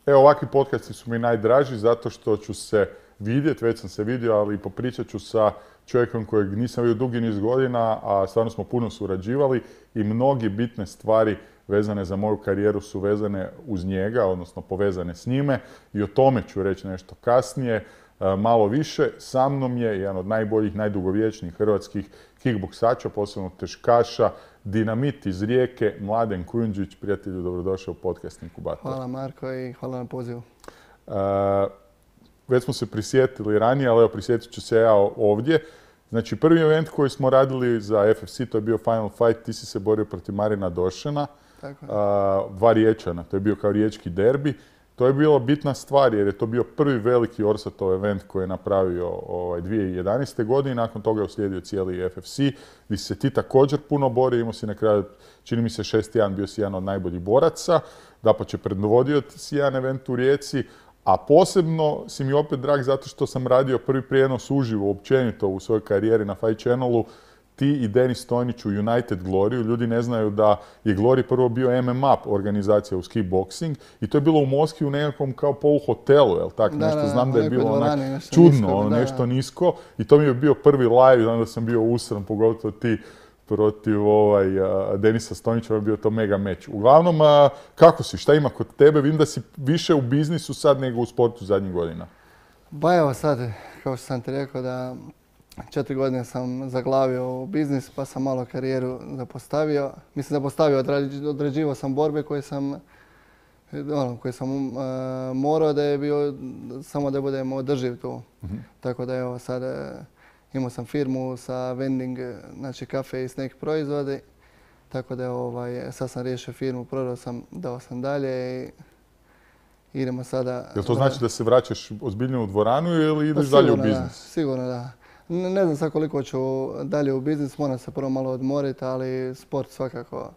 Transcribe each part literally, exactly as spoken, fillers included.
Evo, ovakvi podcasti su mi najdraži zato što ću se vidjeti, već sam se vidio, ali i popričat ću sa čovjekom kojeg nisam vidio dugi niz godina, a stvarno smo puno surađivali i mnogi bitne stvari vezane za moju karijeru su vezane uz njega, odnosno povezane s njime i o tome ću reći nešto kasnije. Malo više, sa mnom je jedan od najboljih, najdugovječnijih hrvatskih kickboksača, posebno teškaša, Dinamit iz Rijeke, Mladen Kujundžić. Prijatelju, dobrodošao u podcast Inkubator. Hvala Marko i hvala na pozivu. Uh, već smo se prisjetili ranije, ali evo prisjetit ću se ja ovdje. Znači, prvi event koji smo radili za F F C, to je bio Final Fight, ti si se borio protiv Marina Došena, Tako je. uh, dva Riječana, to je bio kao riječki derbi. To je bila bitna stvar jer je to bio prvi veliki Orsatov event koji je napravio ovaj, dvije tisuće jedanaeste. godine. Nakon toga je uslijedio cijeli F F C, gdje si se ti također puno borio. Imao si na kraju, čini mi se, šest jedan, bio si jedan od najboljih boraca. Dapače, predvodio si jedan event u Rijeci. A posebno si mi opet drag zato što sam radio prvi prijenos uživo, općenito u svojoj karijeri na Fight Channelu. Ti i Denis Stojnić u United Gloryu. Ljudi ne znaju da je Glory prvo bio M M A organizacija uz kickboxing i to je bilo u Moskvi u nekakvom kao poluhotelu, jel tak? Da, nešto, da, znam da je bilo dvorani, onak nešto čudno, nisko, ono da, nešto da. nisko i to mi je bio prvi live, onda sam bio usran, pogotovo ti protiv ovaj, uh, Denisa Stojnića, je bio to mega meč. Uglavnom, uh, kako si, šta ima kod tebe? Vidim da si više u biznisu sad nego u sportu zadnjih godina. Ba evo sad, kao što sam ti rekao da četiri godine sam zaglavio u biznis, pa sam malo karijeru zapostavio. Mislim, zapostavio, određivao sam borbe koje sam, ono, koje sam uh, morao da je bio, samo da budem održiv tu. Mm-hmm. Tako da evo sad uh, imao sam firmu sa vending, znači kafe i snack proizvode. Tako da ovaj, sad sam riješio firmu, prodao sam, dao sam dalje i idemo sada... Jel to znači da se vraćaš ozbiljno u dvoranu ili ideš pa, dalje u biznis? Da, sigurno da. Ne, ne znam sad koliko ću dalje u biznis, moram se prvo malo odmoriti, ali sport svakako,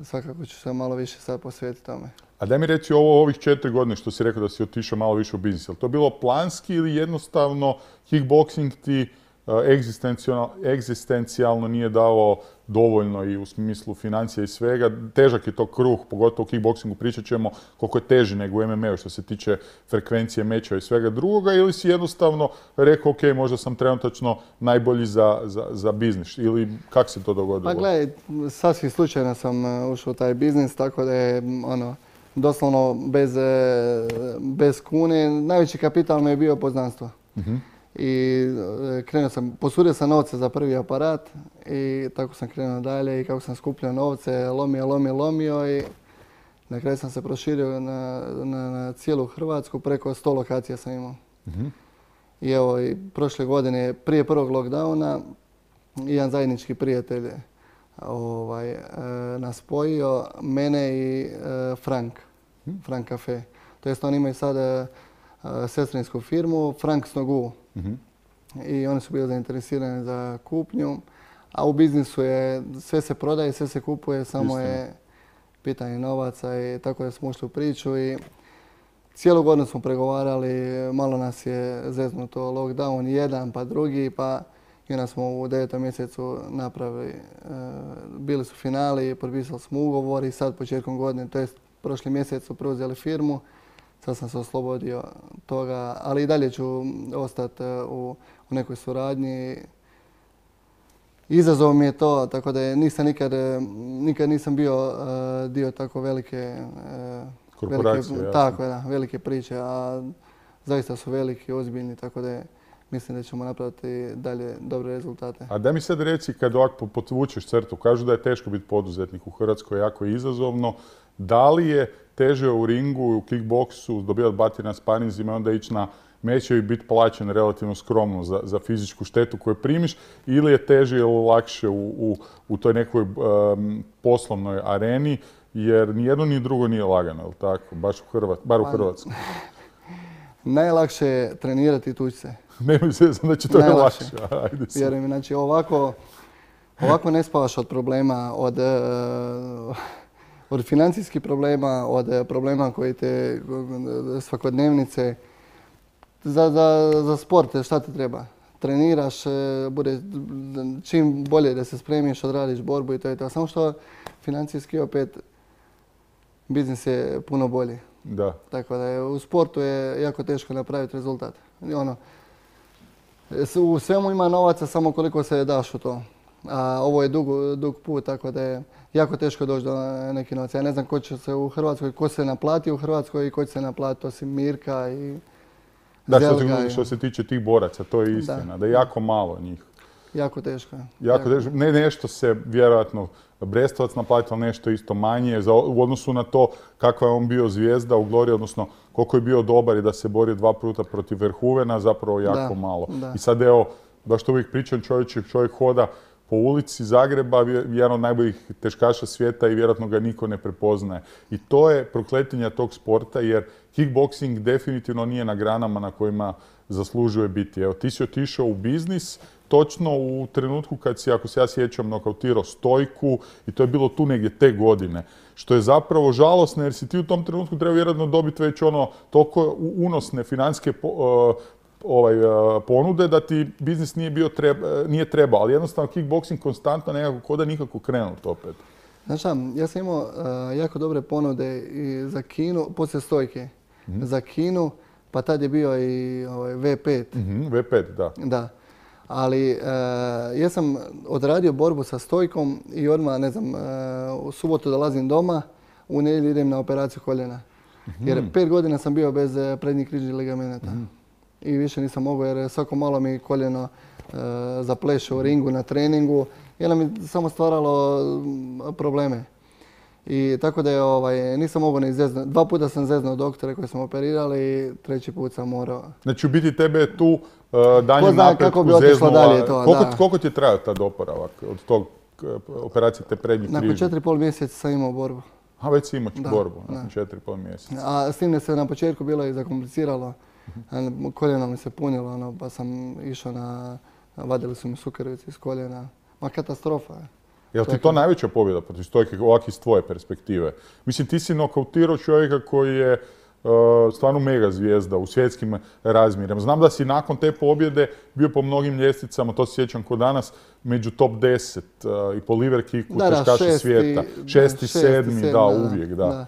svakako ću se malo više sad posvetiti tome. A daj mi reći ovo ovih četiri godine što si rekao da si otišao malo više u biznis. Je li to bilo planski ili jednostavno kickboxing ti uh, egzistencijalno, egzistencijalno nije dao dovoljno i u smislu financija i svega? Težak je to kruh, pogotovo u kickboxingu, pričat ćemo koliko je teži nego u M M A-u što se tiče frekvencije mečeva i svega drugoga, ili si jednostavno rekao ok, možda sam trenutačno najbolji za, za, za biznis, ili kako se to dogodilo? Pa gledaj, sasvim slučajno sam ušao u taj biznis, tako da je ono, doslovno bez, bez kune. Najveći kapital mi je bio poznanstvo. Uh-huh. I krenuo sam, posudio sam novce za prvi aparat i tako sam krenuo dalje i kako sam skupljao novce, lomio, lomio, lomio i na kraju sam se proširio na, na, na cijelu Hrvatsku, preko sto lokacija sam imao. Uh-huh. I evo, i prošle godine, prije prvog lockdowna, jedan zajednički prijatelj ovaj, nas spojio, mene i uh, Frank, uh-huh. Frank Cafe. To jest oni imaju sada uh, sestrinsku firmu, Frank Snogu. Uh-huh. I oni su bili zainteresirani za kupnju, a u biznisu je sve se prodaje, sve se kupuje, samo Istina. je pitanje novaca i tako da smo ušli u priču i cijelu godinu smo pregovarali, malo nas je zeznuto lockdown jedan pa drugi, pa i onda smo u devetom mjesecu napravili, bili su finali, potpisali smo ugovor i sad početkom godine, to jest prošli mjesec su preuzeli firmu. Sad sam se oslobodio toga, ali i dalje ću ostati u, u nekoj suradnji. Izazov mi je to, tako da je, nisam nikad, nikad nisam bio uh, dio tako velike, uh, korporacije, velike, tako, da, velike priče, a zaista su veliki, ozbiljni, tako da je, mislim da ćemo napraviti dalje dobre rezultate. A da mi sad reci, kad ovako potvučeš crtu, kažu da je teško biti poduzetnik u Hrvatskoj, jako izazovno. Da li je teže u ringu, u kickboksu, dobivati batine na sparinzima i onda ići na meče i biti plaćen relativno skromno za, za fizičku štetu koju primiš, ili je teže ili lakše u, u, u toj nekoj um, poslovnoj areni, jer ni jedno ni drugo nije lagano, jel tako? Baš u Hrvat, bar u Hrvatskoj. Najlakše je trenirati i tući se. Nemoj se, znam da će to je lakše. Vjerujem, znači ovako, ovako ne spavaš od problema, od... Uh, od financijskih problema, od problema koji te svakodnevnice. Za, za, za sport šta ti treba? Treniraš, bude čim bolje da se spremiš, odradiš borbu i to je to. Samo što financijski opet biznis je puno bolji. Da. Tako da je, u sportu je jako teško napraviti rezultat. I ono, u svemu ima novaca samo koliko se daš u to. A ovo je dug, dug put, tako da je jako teško doći do nekih novaca. Ja ne znam ko će se u Hrvatskoj, ko se naplati u Hrvatskoj i ko će se naplati, osim Mirka i Da, što, Zelga. se, što se tiče tih boraca, to je istina, da, da je jako malo njih. Jako teško. Jako, jako teško. Ne, nešto se vjerojatno Brestovac naplatio, nešto isto manje za, u odnosu na to kakva je on bio zvijezda u Glori, odnosno koliko je bio dobar i da se borio dva puta protiv Verhoevena, zapravo jako da, malo. Da. I sad evo, baš to uvijek pričam, čovjek, čovjek hoda po ulici Zagreba, jedan od najboljih teškaša svijeta i vjerojatno ga niko ne prepoznaje. I to je prokletinja tog sporta jer kickboxing definitivno nije na granama na kojima zaslužuje biti. Evo, ti si otišao u biznis točno u trenutku kad si, ako se ja sjećam, nokautirao Stojku i to je bilo tu negdje te godine. Što je zapravo žalosno jer si ti u tom trenutku treba vjerojatno dobiti već ono toliko unosne financijske uh, ovaj, ponude da ti biznis nije, bio treba, nije trebao, ali jednostavno kickboxing konstantno nekako koda nikako krenut opet. Znaš šta, ja sam imao uh, jako dobre ponude i za Kinu, poslije Stojke, mm-hmm. za Kinu, pa tad je bio i ovaj, V pet. Mm-hmm, V pet, da. Da. Ali uh, ja sam odradio borbu sa Stojkom i odmah, ne znam, uh, u subotu dolazim doma, u nedjelju idem na operaciju koljena. Mm-hmm. Jer pet godina sam bio bez prednjih križnih ligamenata. Mm-hmm. I više nisam mogao jer svako malo mi koljeno uh, zapleše u ringu na treningu i ono mi samo stvaralo probleme. I tako da je, ovaj, nisam mogao ni zeznuti. Dva puta sam zeznuo doktore koji sam operirali i treći put sam morao. Znači u biti tebe je tu uh, dalje napretku zeznula. Dalje to, koliko, da. koliko ti je trajao tad oporavak od tog uh, operacije te prednjih križnih? Nakon četiri i pol mjeseca sam imao borbu. A već si imao borbu nakon četiri i pol mjeseca. A s tim da se na početku bilo i zakompliciralo. Koljeno mi se punilo, ono, pa sam išao na, vadili su mi sukericu iz koljena. Ma katastrofa je. Jel ti to najveća pobjeda protiv Stojke, ovak iz tvoje perspektive? Mislim, ti si nokautirao čovjeka koji je uh, stvarno mega zvijezda u svjetskim razmjerima. Znam da si nakon te pobjede bio po mnogim ljestvicama, to se sjećam ko danas, među top deset uh, i po liver kicku teškaša svijeta. Šesti, sedmi, da, uvijek, da. da.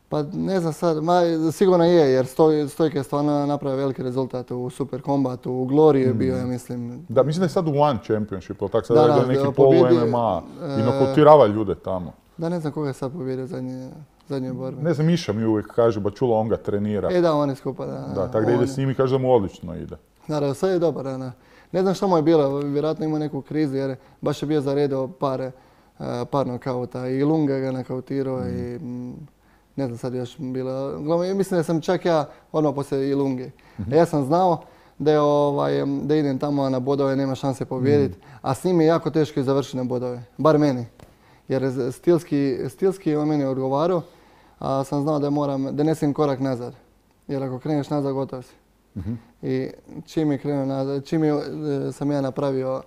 Pa ne znam sad, ma, sigurno je jer stoj, Stojka je stvarno napravio veliki rezultat u Super Kombatu, u Glori je bio, ja mislim. Da, mislim da je sad u One Championship, ali tako sad da, je neki polu M M A i nokautirava ljude tamo. Da, ne znam koga je sad pobjedio zadnje, zadnje borbe. Ne znam, Miša mi uvijek kaže, ba čula, on ga trenira. E da, on je skupa, da. Da, tako da ide s njim i kaže da mu odlično ide. Naravno, sad je dobar, da. Ne znam što mu je bilo, vjerojatno imao neku krizu jer baš je bio zaredio par, par nokauta i Lunga ga nakautirao mm. i... Ne znam sad još bilo, mislim da sam čak ja odmah poslije Ilunge. Mm-hmm. Ja sam znao da, je, ovaj, da idem tamo na bodove, nema šanse pobijediti, mm. a s njim je jako teško i završiti na bodove, bar meni. Jer stilski, stilski je on meni odgovarao, a sam znao da moram, da nesim korak nazad. Jer ako kreneš nazad, gotov si. Mm-hmm. I čim je krenuo nazad, čim je, sam ja napravio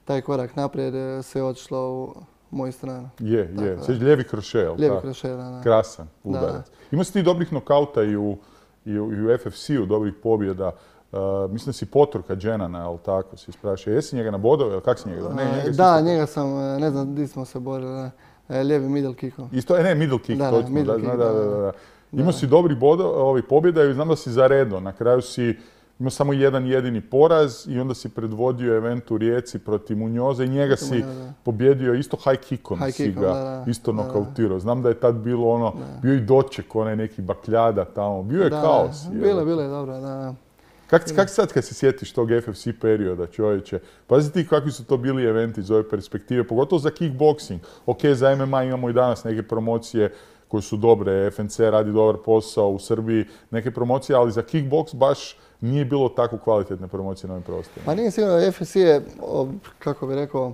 taj korak naprijed, sve je otišlo u moju stranu. Je, tako je. Sveći lijevi kroše, jel' lijevi kroše, da, da. Krasan udarac. Imao si ti dobrih nokauta i u, i u, i u F F C-u, dobrih pobjeda. Uh, mislim da si Poturka Dženana, jel' tako, si isprašao. Jesi njega na bodove, jel' kak si njega? Ne, njega da, njega sam, ne znam di smo se borili, lijevi middle kickom. Isto, e, ne, middle kick, da, točno. Middle da, kick, da, da, da, da. Imao si dobrih ovih pobjeda i znam da si zaredno. Na kraju si imao samo jedan jedini poraz i onda si predvodio event u Rijeci protiv Munjoza i njega si pobjedio isto high kickom high si ga da, da, isto nokautirao. Znam da je tad bilo ono, da. bio i doček, onaj neki bakljada tamo, bio je da, kaos. Bilo je, bilo je, dobro, da. Kak, kak sad kad se sjetiš tog F F C perioda, čovječe? Pazi ti kakvi su to bili eventi iz ove perspektive, pogotovo za kickboxing. Ok, za M M A imamo i danas neke promocije koje su dobre, F N C radi dobar posao u Srbiji, neke promocije, ali za kickbox baš nije bilo tako kvalitetne promocije na ovim prostorima. Pa nije sigurno, F F C je, kako bih rekao,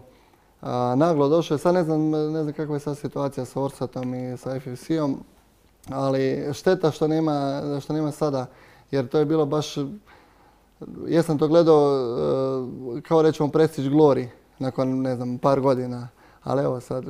a, naglo došao. Sad ne znam, ne znam kakva je sad situacija sa Orsatom i sa F F C-om, ali šteta što nema, što nema sada, jer to je bilo baš, ja sam to gledao kao rečemo Prestige Glory nakon, ne znam, par godina, ali evo sad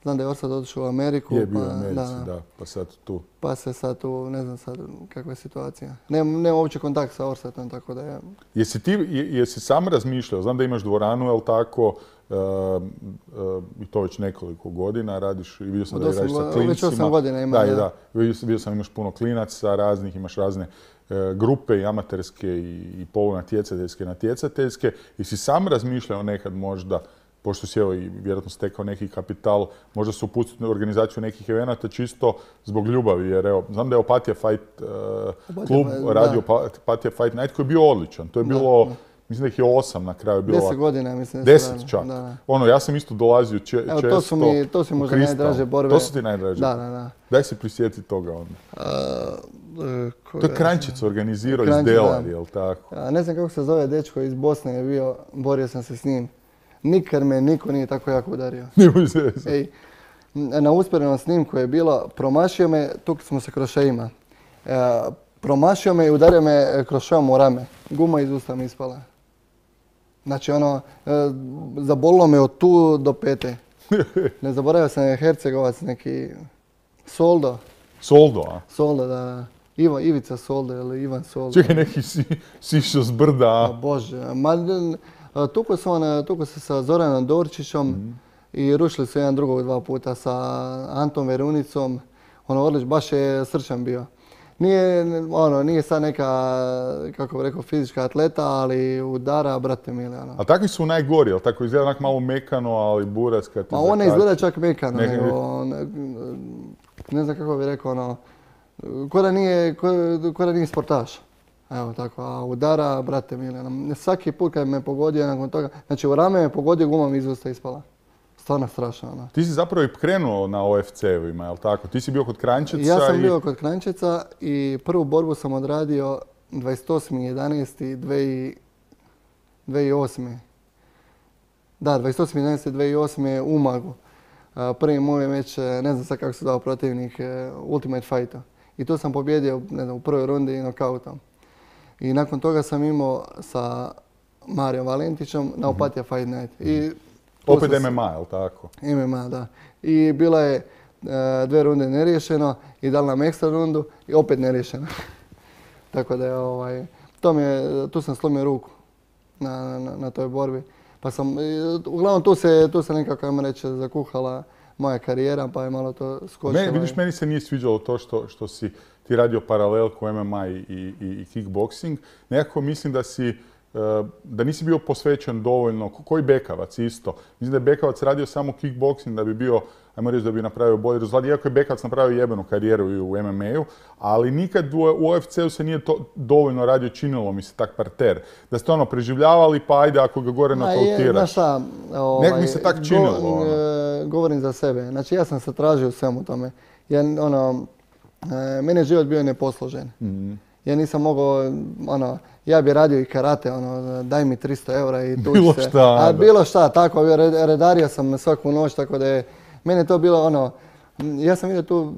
znam da je Orsat otišao u Ameriku. Je bio pa, u Americi, da, da, pa sad tu. Pa se sad tu, ne znam sad kakva je situacija. Nemam nema uopće kontakt sa Orsatom, tako da je... Jesi ti, jesi sam razmišljao, znam da imaš dvoranu, jel tako, uh, uh, i to već nekoliko godina radiš i vidio sam da radiš sa klincima. Već osam godina ima, da. Da, da. Vidio, vidio sam imaš puno klinaca raznih, imaš razne uh, grupe i amaterske i, i polunatjecateljske, natjecateljske. Jesi sam razmišljao nekad možda, pošto si evo i vjerojatno stekao neki kapital, možda se upustiti u organizaciju nekih evenata čisto zbog ljubavi, jer evo, znam da je Opatija Fight uh, klub da. radio Opatija Fight Night koji je bio odličan. To je bilo, da, da. Mislim da ih je osam na kraju bilo. Deset godina, mislim. Deset čak. Da. Ono, ja sam isto dolazio če, evo, često. To su mi, to su možda najdraže borbe. To su ti najdraže? Da, da, da. Daj se prisjeti toga onda. Uh, uh, to je Kranjčić organizirao iz Delari, jel tako? A, ne znam kako se zove dečko iz Bosne je bio, borio sam se s njim. Nikad me niko nije tako jako udario. Ej, na usporednom snimku je bilo, promašio me, tukli smo se krošejima. E, promašio me i udario me krošejom u rame. Guma iz usta mi ispala. Znači ono, e, zabolilo me od tu do pete. Ne zaboravio sam je Hercegovac, neki Soldo. Soldo, a? Soldo, da. Ivo, Ivica Soldo ili Ivan Soldo. Čekaj, neki si, sišao s brda, a? O Bože, ma... Tuko se, on, tuko se sa Zoranom Dorčićom mm. i rušili su jedan drugog dva puta sa Antom Verunicom. Ono, Orlić baš je srčan bio. Nije, ono, nije sad neka, kako bi rekao, fizička atleta, ali udara, brate mili. Ono. A takvi su najgori, jel tako izgleda onak malo mekano, ali buras kad te Ma on ne izgleda čak mekano, Neka... nego, ne, ne znam kako bi rekao, ono, ko da nije, ko, ko da nije sportaš. Evo tako, a udara, brate mili, svaki put kad me pogodio nakon toga, znači u rame me pogodio, guma mi iz usta ispala. Stvarno strašno. Ono. Ti si zapravo i krenuo na O F C-ovima, jel tako? Ti si bio kod Kranjčica i... Ja sam i... bio kod Kranjčica i prvu borbu sam odradio dvadeset osmi jedanaesti dvije tisuće osme. Da, dvadeset osmi jedanaesti dvije tisuće osme u Umagu. Prvi moj meč, ne znam sad kako se dao protivnik, Ultimate Fightu. I to sam pobjedio, ne znam, u prvoj rundi nokautom. I nakon toga sam imao sa Marijom Valentićem na Opatija Fight Night. I opet M M A, je li tako? M M A, da. I bila je uh, dve runde neriješeno i dali nam ekstra rundu i opet neriješeno. Tako da je, ovaj, to mi je, tu sam slomio ruku na, na, na toj borbi. Pa sam, uglavnom tu se, tu se nekako, ajmo reći, zakuhala moja karijera, pa je malo to skočilo. Me, vidiš, meni se nije sviđalo to što, što si ti radio paralelku M M A i, i, i kickboxing. Nekako mislim da si, da nisi bio posvećen dovoljno, koji Bekavac isto. Mislim da je Bekavac radio samo kickboxing da bi bio, ajmo reći da bi napravio bolji rezultat. Iako je Bekavac napravio jebenu karijeru i u M M A-u, ali nikad u U F C-u se nije to dovoljno radio, činilo mi se tak parter. Da ste ono preživljavali, pa ajde ako ga gore nokautiraš. Znaš šta, ovaj, nek mi se tak činilo. Go, ono. Govorim za sebe. Znači ja sam se tražio u svemu tome. Ja, ono, meni je život bio neposložen. Mm-hmm. Ja nisam mogao, ono, ja bi radio i karate, ono, daj mi tristo eura i tu bilo se. Šta, a bilo šta, tako, redario sam svaku noć, tako da je, meni je to bilo, ono, ja sam vidio tu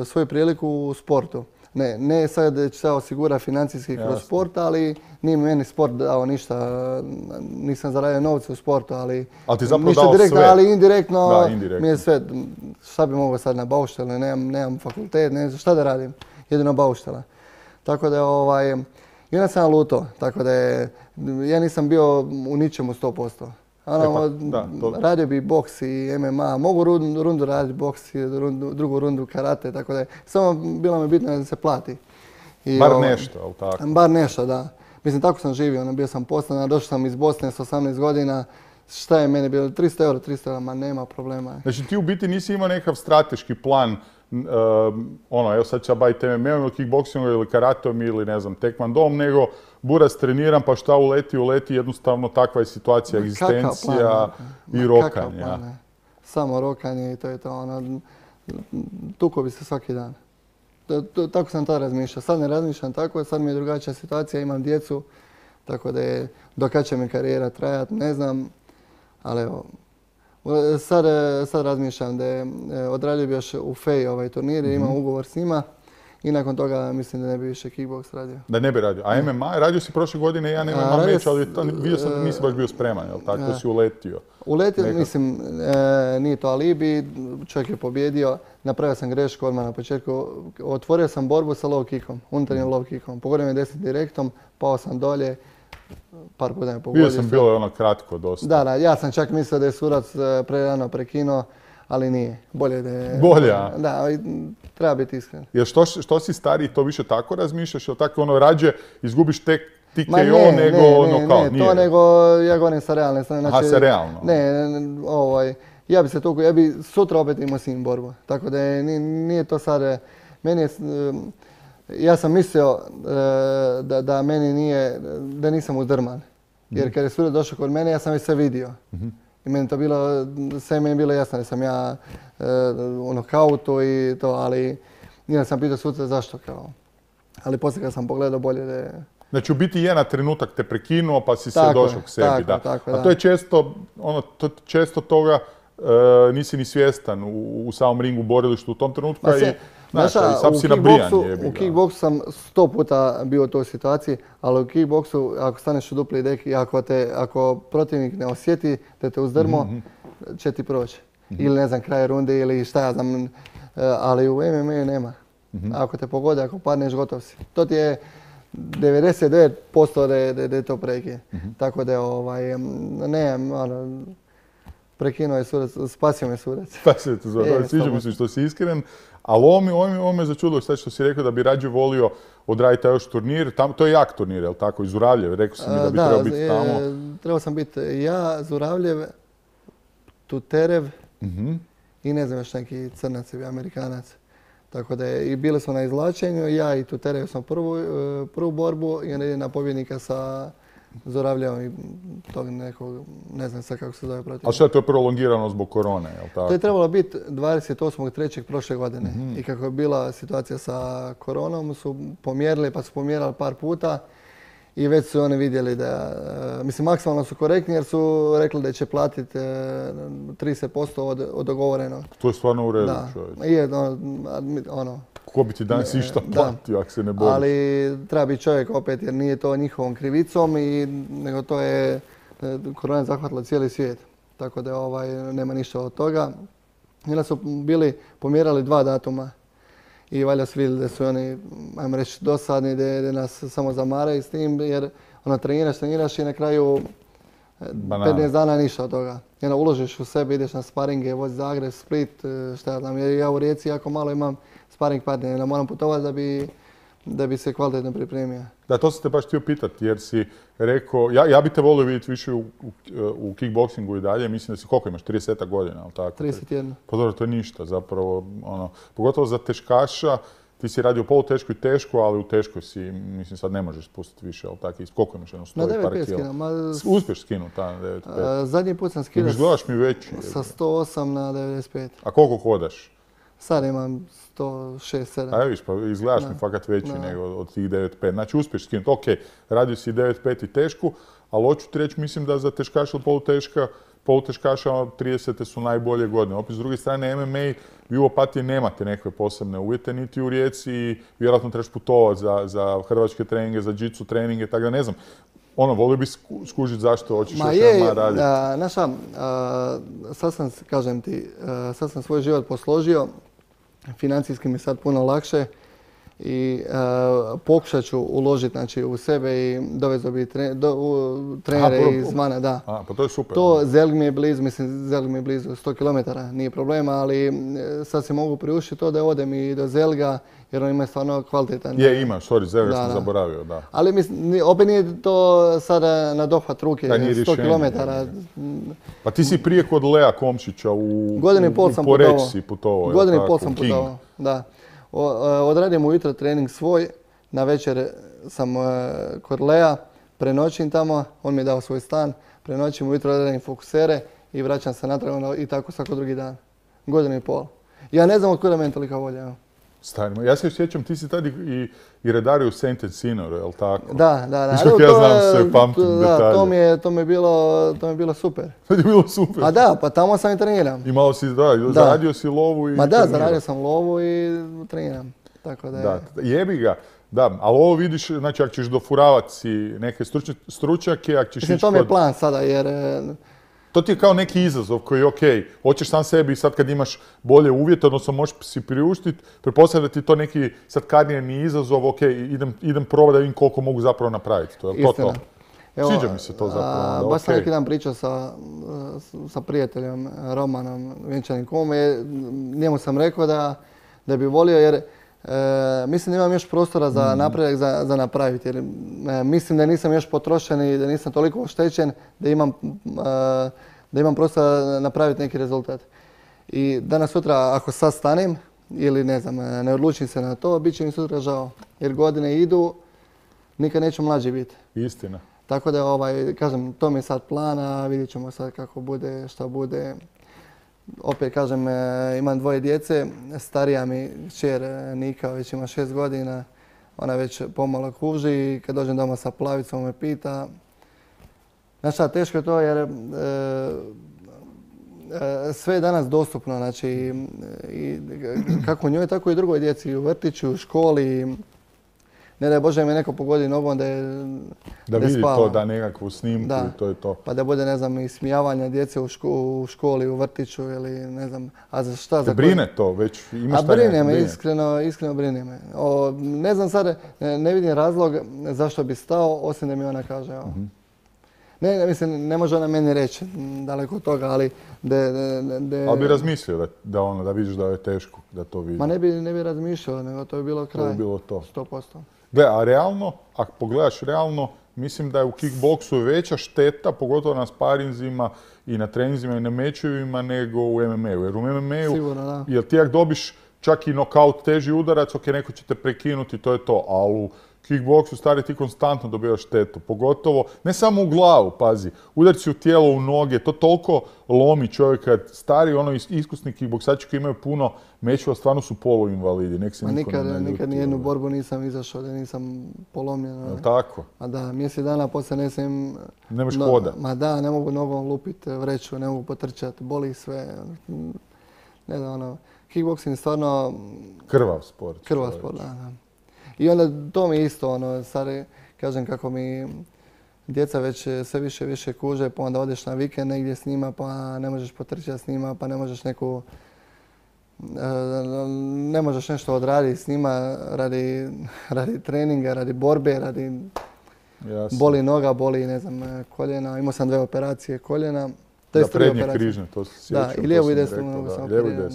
svoju priliku u sportu. Ne, ne sad da će se osigura financijski kroz Jasne. Sport, ali nije mi meni sport dao ništa, nisam zaradio novce u sportu, ali ali ti zapravo ništa dao direktno, sve. Ali indirektno, da, indirektno mi je sve, šta bi mogao sad na bauštele, nemam, nemam fakultet, ne znam šta da radim, jedino bauštela. Tako da je, ovaj, i onda sam luto, tako da je, ja nisam bio u ničemu sto posto. Ono, e pa, da, to... radio bi boks i M M A, mogu rundu, rundu raditi boks i rundu, drugu rundu karate, tako da je, samo bilo mi bitno da se plati. I, bar ovaj, nešto, ali tako? Bar nešto, da. Mislim, tako sam živio, ono, bio sam poslan, došao sam iz Bosne s osamnaest godina, šta je meni bilo, tristo eura, tristo eura, ma nema problema. Znači ti u biti nisi imao nekakav strateški plan, uh, ono, evo sad ću ja baviti M M A-om ili kickboxingom ili karatom ili ne znam, tekvandom, nego buras treniram pa šta uleti, uleti, jednostavno takva je situacija, ma egzistencija plan, i rokanje. Ja. Samo rokanje i to je to, ono, tuko bi se svaki dan. To, to, tako sam tada razmišljao. Sad ne razmišljam tako, sad mi je drugačija situacija, imam djecu, tako da je, do kad će mi karijera trajati, ne znam, ali evo, sad, sad razmišljam da je odradio bi još u Feji ovaj turnir, mm-hmm. imam ugovor s njima I nakon toga mislim da ne bi više kickboks radio. Da ne bi radio. A M M A, radio si prošle godine jedan M M A meč, ali to, vidio sam da nisi baš bio spreman, jel tako? To si uletio. Uletio, nekak. mislim, e, nije to alibi, čovjek je pobjedio, napravio sam grešku odmah na početku, otvorio sam borbu sa low kickom, unutarnjim low kickom, pogodio me deset direktom, pao sam dolje, par puta me pogodio. Bio sam bilo je ono kratko dosta. Da, da, ja sam čak mislio da je sudac prerano prekinuo, ali nije. Bolje da je... Bolje, a? Da, treba biti iskren. Jer što, što si stariji, to više tako razmišljaš, ili tako ono rađe izgubiš tek ti K O nego nokaut? Ne, ne, to nego, ja govorim sa realne strane. Znači, aha, sa realno? Ne, ovaj, ja bi se tu, ja bi sutra opet imao s njim borbu. Tako da je, nije, nije to sad, meni je, ja sam mislio da, da meni nije, da nisam uzdrman. Jer kad je sudac došao kod mene, ja sam već sve vidio. Mm-hmm. I meni to bilo, sve meni je bilo jasno da sam ja e, u nokautu i to, ali nije sam pitao suca zašto kao. Ali poslije kad sam pogledao bolje da je... Znači u biti jedan trenutak te prekinuo pa si se došao k sebi, tako, da. Tako, A da. to je često, ono, to, često toga e, nisi ni svjestan u, u samom ringu borilištu u tom trenutku i znaš, Znaš, sam si nabrijan jebi ga. U kickboksu sam sto puta bio u toj situaciji, ali u kickboksu ako staneš u dupli deki, ako, te, ako protivnik ne osjeti da te uzdrmo, mm-hmm. će ti proći. Mm-hmm. Ili ne znam, kraj runde ili šta ja znam, ali u M M A nema. Mm-hmm. Ako te pogode, ako padneš, gotov si. To ti je devedeset devet posto da je, da je to prekid. Mm-hmm. Tako da ovaj, ne, ono, prekinuo je sudac, spasio me sudac. Spasio te sudac, sviđa mi se što si iskren. Ali ovo mi, ovo me začudilo sad što si rekao da bi rađe volio odraditi taj još turnir. Tam, to je jak turnir, jel tako? Iz Zuravljeve, rekao si mi da bi da, trebao biti tamo. Da, trebao sam biti ja, Zuravljev, Tuterev mm-hmm. i ne znam još neki crnac ili Amerikanac. Tako da je, i bili smo na izvlačenju, ja i Tuterev smo prvu, prvu borbu i na pobjednika sa Zuravljevom i tog nekog, ne znam sad kako se zove protiv. A što je to prolongirano zbog korone, jel tako? To je trebalo biti dvadeset osmog trećeg prošle godine. Mm-hmm. I kako je bila situacija sa koronom su pomjerili, pa su pomjerali par puta i već su oni vidjeli da, mislim maksimalno su korektni jer su rekli da će platiti trideset posto od, od dogovorenog. To je stvarno u redu, da. čovječ. Je, ono, ono, ko bi ti danas išta platio ako se ne boriš? Ali treba biti čovjek opet jer nije to njihovom krivicom i nego to je korona zahvatila cijeli svijet. Tako da ovaj, nema ništa od toga. I onda su bili pomjerali dva datuma i valjda su vidjeli da su oni, ajmo reći, dosadni, da, da nas samo zamaraju s tim jer ono, treniraš, treniraš i na kraju Banana. petnaest dana ništa od toga. I onda uložiš u sebe, ideš na sparinge, vozi Zagreb, Split, šta ja znam, jer ja u Rijeci jako malo imam sparing partner, da moram putovati da bi, da bi se kvalitetno pripremio. Da, to sam te baš htio pitati jer si rekao, ja, ja bi te volio vidjeti više u, u, u kickboksingu i dalje, mislim da si koliko imaš, trideset godina, ali tako? trideset jedan. Pa dobro, to je ništa zapravo, ono, pogotovo za teškaša, ti si radio u poluteško i teško, ali u teškoj si, mislim sad ne možeš spustiti više, ali tako, koliko imaš jedno sto i par kila? Ma... Uspješ skinuti ta na devedeset pet? A, zadnji put sam skidao izgledaš mi veći. Sa sto osam na devedeset pet. A koliko hodaš? Sad imam sto šest sedam. A viš, pa izgledaš mi fakat veći no. nego od tih devedeset pet. Znači uspješ skinuti, ok, radio si devedeset pet i tešku, ali hoću ti reći, mislim da za teškaša ili poluteška, poluteškaša tridesete su najbolje godine. Opet s druge strane M M A, vi u Opatiji nemate nekakve posebne uvjete, niti u Rijeci i vjerojatno trebaš putovati za, za hrvačke treninge, za džicu treninge, tako da ne znam. Ono, volio bi skužiti zašto hoćeš još jedan raditi. Naša, sad sam, kažem ti, a, sad sam svoj život posložio, financijski mi je sad puno lakše i uh, pokušat ću uložiti znači, u sebe i dovezao bi tre, do, u, trenere Aha, izvana. Da. A, pa to je super. To Zelg mi je blizu, mislim Zelg mi je blizu sto kilometara, nije problema, ali sad se mogu priuštiti to da odem i do Zelga jer on ima stvarno kvalitetan. Je, ima, sorry, Zelga sam da. zaboravio, da. Ali mislim, opet nije to sada na dohvat ruke, da, sto kilometara. Pa ti si prije kod Lea Komšića u, godinu i pol sam u Poreč si putovao. Godinu i pol sam putovao, da. Odradim ujutro trening svoj, na večer sam kod Lea, prenoćim tamo, on mi je dao svoj stan, prenoćim ujutro odradim fokusere i vraćam se natrag i tako svako drugi dan. Godinu i pol. Ja ne znam od kuda meni tolika volja. Stavimo. Ja se sjećam, ti si tad i, i redario u Saint Sinoru, je li tako? Da, da, da. Što ja znam sve, pamtim to, detalje. Da, to mi je, to mi je bilo, to mi je bilo super. To je bilo super? A da, pa tamo sam i treniram. I malo si, da, da. zaradio si lovu i Ma da, trenirao. zaradio sam lovu i treniram. Tako da, je... da, jebi ga. Da, ali ovo vidiš, znači ako ćeš dofuravati si neke struč, stručnjake, ako ćeš Mislim, ići to mi je kod... plan sada, jer... To ti je kao neki izazov koji je okej. Hoćeš sam sebi sad kad imaš bolje uvjete, odnosno možeš si priuštiti, pretpostavljam da ti to neki sad karijerni izazov, okej, idem, idem probati da vidim koliko mogu zapravo napraviti. To je to to. Evo, Sviđa mi se to zapravo. A, da, baš sam okay. neki dan pričao sa, sa prijateljem Romanom Vjenčanikom. Njemu sam rekao da, da bi volio, jer e, mislim da imam još prostora za mm. napredak za, za napraviti. Jer, e, mislim da nisam još potrošen i da nisam toliko oštećen da imam, e, da imam prostora napraviti neki rezultat. I danas sutra ako sad stanem ili ne znam, ne odlučim se na to, bit će mi sutra žao. Jer godine idu, nikad neću mlađi biti. Istina. Tako da, ovaj, kažem, to mi je sad plana, vidjet ćemo sad kako bude, šta bude. Opet, kažem, imam dvoje djece, starija mi kćer Nika već ima šest godina, ona već pomalo kuži i kad dođem doma sa Plavicom me pita. Znaš šta, teško je to jer e, e, sve je danas dostupno, znači i, kako njoj, tako i drugoj djeci, i u vrtiću, u školi. Ne daj Bože me neko pogodi nogom da je Da, da vidi spava. To, da nekakvu snimku da. I to je to. Pa da bude, ne znam, ismijavanja djece u, ško, u školi, u vrtiću ili ne znam, a za šta? Te za brine koji... to već? Imaš a brine me, iskreno, iskreno brine me. O, ne znam sad, ne, ne vidim razlog zašto bi stao, osim da mi ona kaže. O. Mm-hmm. Ne, ne, mislim, ne može ona meni reći, daleko od toga, ali... De, de, de... Ali bi razmislio da, da, ono, da vidiš da je teško, da to vidi. Ma ne bi, ne bi razmišljao, nego to bi bilo kraj. To bi bilo to. sto posto. Gle, a realno, ako pogledaš realno, mislim da je u kickboksu veća šteta, pogotovo na sparinzima i na treninzima i na mečevima, nego u em em a-u. Jer u em em a-u, sigurno, da. Jer ti ako dobiš čak i nokaut teži udarac, ok, neko će te prekinuti, to je to, ali u kickboksu stari ti konstantno dobivaš štetu, pogotovo, ne samo u glavu, pazi, udarci u tijelo, u noge, to toliko lomi čovjeka, stari ono iskusni kickboksači koji imaju puno mečeva, stvarno su poluinvalidi, nek se Ma niko nikad, ne ljuti. Nikad nijednu borbu nisam izašao da nisam polomljen. Jel' tako? Ma da, mjesec dana poslije ne sam... Nemaš no, hoda. Ma da, ne mogu nogom lupiti vreću, ne mogu potrčati, boli sve. Ne znam, ono, kickboksing je stvarno... Krvav sport. Krvav sport, da, da. I onda to mi isto, ono, stari, kažem kako mi djeca već sve više više kuže, pa onda odeš na vikend negdje s njima, pa ne možeš potrčati s njima, pa ne možeš neku, ne možeš nešto odraditi s njima radi, radi treninga, radi borbe, radi Jasne. Boli noga, boli, ne znam, koljena. Imao sam dve operacije koljena. To je prednje križne, to se sjećam. Da, i lijevu i desnu nogu sam operirao.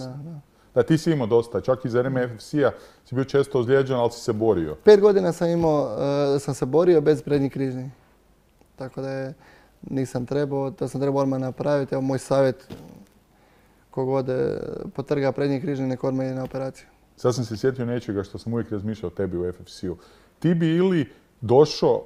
Da, ti si imao dosta, čak i za vrijeme ef ef ce-a si bio često ozlijeđen, ali si se borio. Pet godina sam imao, uh, sam se borio bez prednjih križnih. Tako da je, nisam trebao, to sam trebao odmah napraviti. Evo moj savjet, kogod potrga prednji križni, nek odmah ide na operaciju. Sad sam se sjetio nečega što sam uvijek razmišljao o tebi u ef ef ce-u. Ti bi ili došao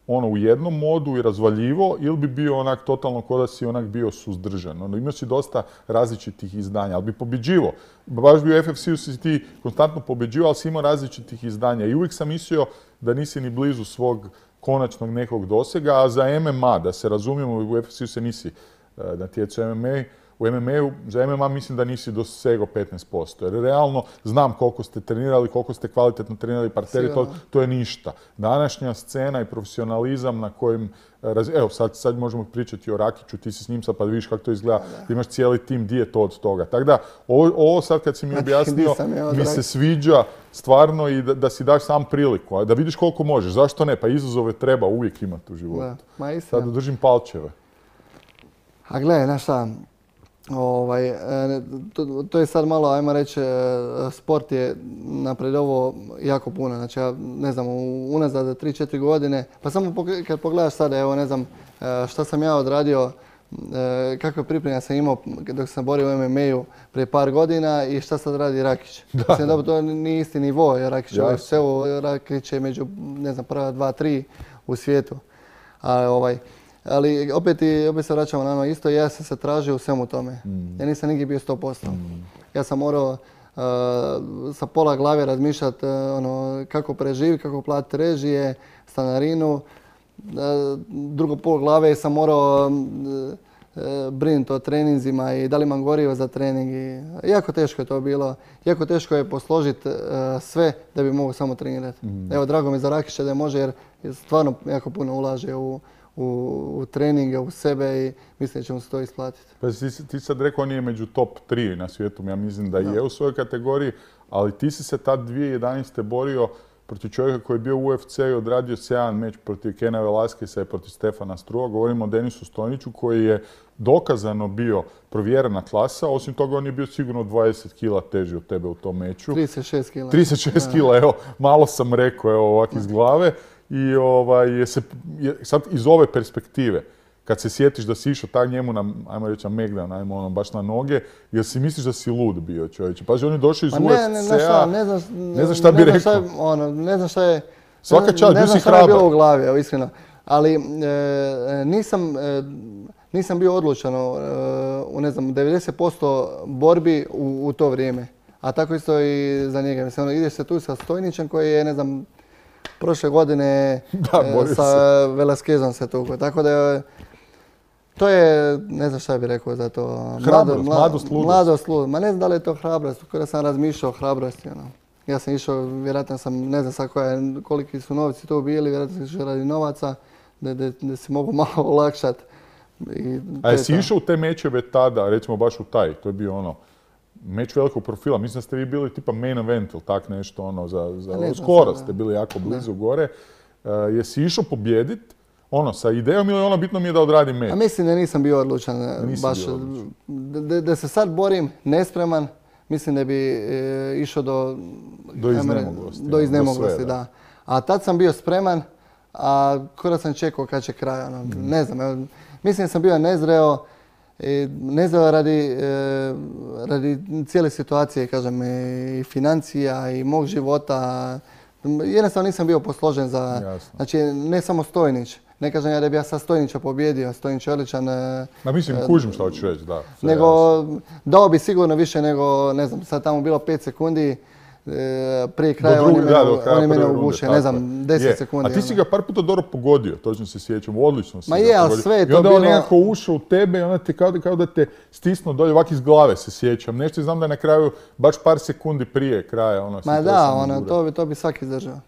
ono u jednom modu i razvaljivo, ili bi bio onak totalno ko da si onak bio suzdržan. Ono, imao si dosta različitih izdanja, ali bi pobjeđivo. Baš bi u ef ef ce-u si ti konstantno pobjeđivo, ali si imao različitih izdanja. I uvijek sam mislio da nisi ni blizu svog konačnog nekog dosega, a za em em a, da se razumijemo, u ef ef ce-u se nisi uh, natjecao em em a, u em em a-u, za em em a mislim da nisi dosegao petnaest posto. Jer realno znam koliko ste trenirali, koliko ste kvalitetno trenirali parteri, to, to je ništa. Današnja scena i profesionalizam na kojem... Raz... Evo, sad, sad možemo pričati o Rakiću, ti si s njim sad pa vidiš kako to izgleda. Da. Imaš cijeli tim, di je to od toga. Tako da, ovo, ovo sad kad si mi objasnio, mi se sviđa stvarno i da, da si daš sam priliku. Da vidiš koliko možeš. Zašto ne? Pa izazove treba uvijek imati u životu. Da. Ma istina. Sad držim palčeve. A gledaj, znaš šta, ovaj, to, to je sad malo, ajmo reći, sport je napredovao jako puno. Znači, ja ne znam, unazad tri četiri godine, pa samo kad pogledaš sada, evo ne znam šta sam ja odradio, kakve pripreme sam imao dok sam borio u em em a-u prije par godina i šta sad radi Rakić. Da. Mislim da to nije isti nivo, jer Rakić je sve, Rakić je među, ne znam, prva dva, tri u svijetu. A, ovaj, ali opet, i, opet se vraćamo na ono isto, ja sam se tražio u svemu tome. Mm. Ja nisam nigdje bio sto posto. Mm. Ja sam morao uh, sa pola glave razmišljati uh, ono, kako preživiti, kako platiti režije, stanarinu. Uh, drugo pol glave sam morao uh, brinuti o treninzima i da li imam gorivo za trening. I jako teško je to bilo. Jako teško je posložiti sve da bi mogao samo trenirati. Mm. Evo, drago mi za Rakića da može jer stvarno jako puno ulaže u, u, u treninge, u sebe i mislim da će mu se to isplatiti. Pa ti, ti sad rekao on je među top tri na svijetu, ja mislim da, da je u svojoj kategoriji, ali ti si se tad dvije tisuće jedanaeste borio protiv čovjeka koji je bio u U F C i odradio sjajan meč protiv Kena Velasqueza i protiv Stefana Strua. Govorimo o Denisu Stojniću koji je dokazano bio provjerena klasa. Osim toga on je bio sigurno dvadeset kila teži od tebe u tom meču. trideset šest kila. trideset šest kila, evo, malo sam rekao, evo ovak iz glave. I ovaj, je se, je, sad iz ove perspektive, kad se sjetiš da si išao tak njemu na, ajmo reći, na Megdan, ajmo ono, baš na noge, jer si misliš da si lud bio, čovječe. Pazi, on je došao iz U F C-a, ne, ne, šta, ne, znam, ne znam šta bi ne rekao. Šta je, ono, ne znam šta je, svaka čast, bio si hrabar. Ne znam šta je bilo u glavi, evo, iskreno. Ali e, nisam, e, nisam bio odlučan e, u, ne znam, devedeset posto borbi u, u to vrijeme. A tako isto i za njega. Mislim, ono, ideš se tu sa Stojnićem koji je, ne znam, prošle godine da, e, sa Velasquezom se tukao. Tako da je, to je, ne znam šta bih rekao za to. Hrabrost, mladost, ludost. Mladost, ludost. Ma ne znam da li je to hrabrost, kada sam razmišljao o hrabrosti. Ono. Ja sam išao, vjerojatno sam, ne znam sad koja, koliki su novci tu bili, vjerojatno sam išao radi novaca, da, da, da se mogu malo olakšati. A jesi to. Išao u te mečeve tada, recimo baš u taj, to je bio ono, meč velikog profila, mislim da ste vi bili tipa main event ili tak nešto, ono, za, za skoro ste bili jako blizu ne. gore. Uh, jesi išao pobijedit, ono, sa idejom ili ono, bitno mi je da odradim meč? A mislim da nisam bio odlučan, baš, bio odlučan. Da, da se sad borim nespreman, mislim da bi e, išao do... Do iznemoglosti. Do iznemoglosti, do sve, da. da. A tad sam bio spreman, a kada sam čekao kad će kraj, ono, mm. ne znam, evo, mislim da sam bio nezreo, i nezreo radi, e, radi cijele situacije, kažem, i financija i mog života. Jednostavno nisam bio posložen za... Jasno. Znači, ne samo Stojnić. Ne kažem ja da bi ja sad Stojnića pobjedio, Stojnić je odličan. Ma mislim, kužim što hoćeš reći, da. Nego, dao bi sigurno više nego, ne znam, sad tamo bilo pet sekundi, prije kraja oni mene, da, oni mene uguše, ne znam, deset je. sekundi. A ti si ga par puta dobro pogodio, točno se sjećam, odlično si Ma je, ali sve je to bilo... I onda on nekako ušao u tebe i onda te kao, kao da te stisnuo dolje, ovak iz glave se sjećam. Nešto znam da je na kraju, baš par sekundi prije kraja, ono... Ma da, ono, to bi, to bi svaki izdržao.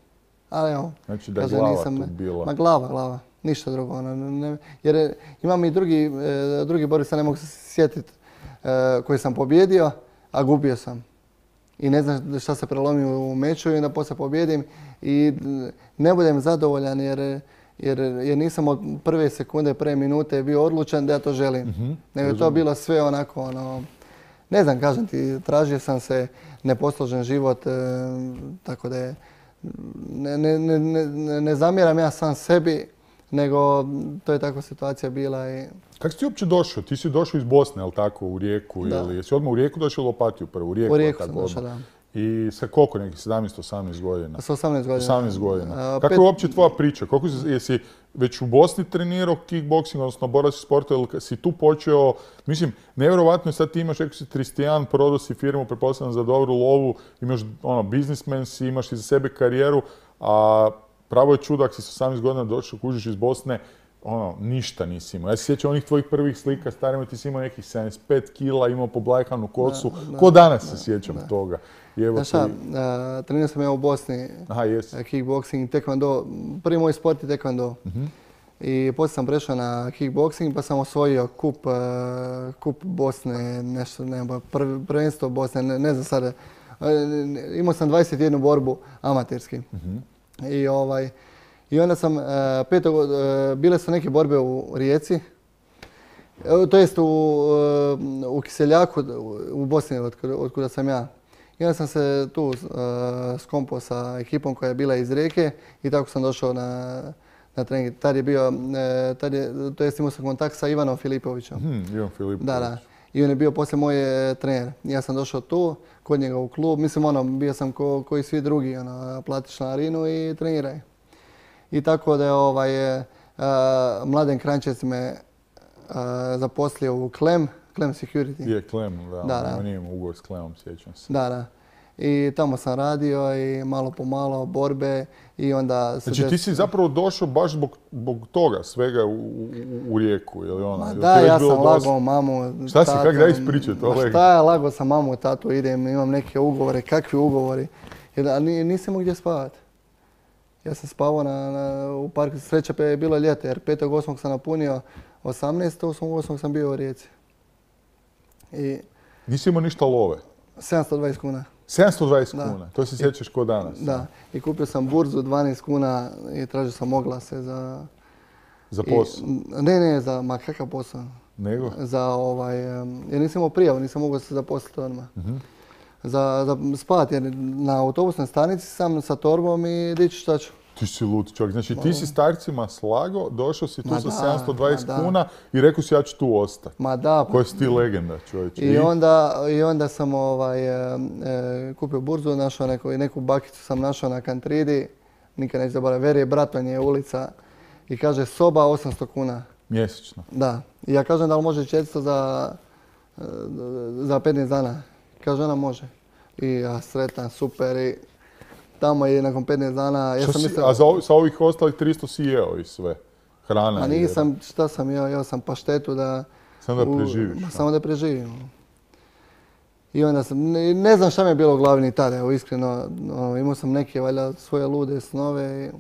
Ali evo, znači da je glava nisam, tu bila. Ma glava, glava, ništa drugo. Ono, ne, jer imam i drugi, e, drugi borbi, sad ne mogu se sjetiti, e, koji sam pobjedio, a gubio sam. I ne znam šta se prelomio u meču i onda poslije pobjedim i ne budem zadovoljan jer, jer, jer nisam od prve sekunde, prve minute bio odlučan da ja to želim. Mm-hmm. Nego je to bilo sve onako, ono, ne znam, kažem ti, tražio sam se neposložen život, e, tako da je, ne, ne, ne, ne, ne zamjeram ja sam sebi, nego to je takva situacija bila. I... Kako si ti uopće došao? Ti si došao iz Bosne, ali tako, u Rijeku? Da. Ili jesi odmah u Rijeku došao ili Opatiju prvo? U Rijeku, u Rijeku sam došao, da. I sa koliko, nekih sedamnaest osamnaest godina? Sa osamnaest godina. osamnaest godina. A, Kako pet... je uopće tvoja priča? Koliko si, jesi već u Bosni trenirao kickboxing, odnosno borački sport, ili si tu počeo, mislim, nevjerovatno je sad ti imaš, rekao si trideset jedan, prodao si firmu, pretpostavljam za dobru lovu, imaš, ono, biznismen si, imaš iza sebe karijeru, a pravo je čudo, ako si s osamnaest godina došao, kužiš iz Bosne, ono, ništa nisi imao. Ja se sjećam onih tvojih prvih slika, starima ti si imao nekih sedamdeset pet kila, imao poblajkanu kosu. Da, da, Ko danas da, se sjećam da. toga? Znaš šta, uh, trenirao sam ja u Bosni, Aha, yes. kickboxing, taekwondo. Prvi moj sport je taekwondo. Uh-huh. I poslije sam prešao na kickboxing pa sam osvojio kup, uh, kup Bosne, nešto, ne, prv, prvenstvo Bosne, ne, ne znam sada. Uh, imao sam dvadeset jednu borbu amaterski. Uh-huh. I ovaj... I onda sam, uh, petog, uh, bile su neke borbe u Rijeci, uh, to jest u, uh, u Kiseljaku, u Bosni, od, od kuda sam ja. I onda sam se tu uh, skompao sa ekipom koja je bila iz Rijeke i tako sam došao na, na trening. Tad je bio, uh, tad je, to jest imao sam kontakt sa Ivanom Filipovićem. Hmm, Ivan Filipović. Da, da. I on je bio poslije moj trener. Ja sam došao tu, kod njega u klub, mislim ono, bio sam ko, ko i svi drugi, ono, platiš članarinu i treniraj. I tako da je ovaj, uh, Mladen Kranjčec me uh, zaposlio u Klem, Klem Security. Je Klem, da, da, da. On nije imao ugovor s Klemom, sjećam se. Da, da. I tamo sam radio i malo po malo borbe i onda... Znači des... ti si zapravo došao baš zbog, zbog toga svega u, u, u Rijeku, ili ona? Ma da, ja sam lagao mamu, šta si, kak da ispričati? Šta je, lagao sam mamu, tatu, idem, imam neke ugovore, kakvi ugovori? Jer nisam imao gdje spavati. Ja sam spavao na, na, u parku, sreća je bilo ljeto, jer petog osmog sam napunio osamnaestog osmog sam bio u Rijeci. I nisi imao ništa love? sedamsto dvadeset kuna. sedamsto dvadeset kuna, to se sjećaš ko danas. Da, i kupio sam burzu dvanaest kuna i tražio sam oglase za... Za posao? Ne, ne, za, ma kakav posao. Nego? Za ovaj, jer nisam imao prijavu, nisam mogao se zaposliti odmah. Uh-huh. Za, za spavati, jer na autobusnoj stanici sam sa torbom i dići šta ću. Ti si lud čovjek, znači ti si starcima slago, došao si tu ma sa da, sedamsto dvadeset kuna i rekao si ja ću tu ostati. Ma da. Koja si ti legenda čovječe. I, I, onda, i onda sam ovaj, e, e, kupio burzu, našao neku, neku bakicu sam našao na Kantridi, nikad neću zaboraviti, Verije Bratonje ulica i kaže soba osamsto kuna. Mjesečno? Da. I ja kažem da li može četiristo za, za petnaest dana. Kaže ona može. I ja sretan, super i tamo je nakon petnaest dana... Ja sam si, mislio, a za ovih, sa ovih ostalih tristo si jeo i sve? Hrana? A nisam, jer... šta sam jeo? Jeo sam paštetu da... Samo da preživiš? U, samo da preživim. I onda sam, ne, ne znam šta mi je bilo u glavi ni tada, evo iskreno. No, imao sam neke valjda svoje lude snove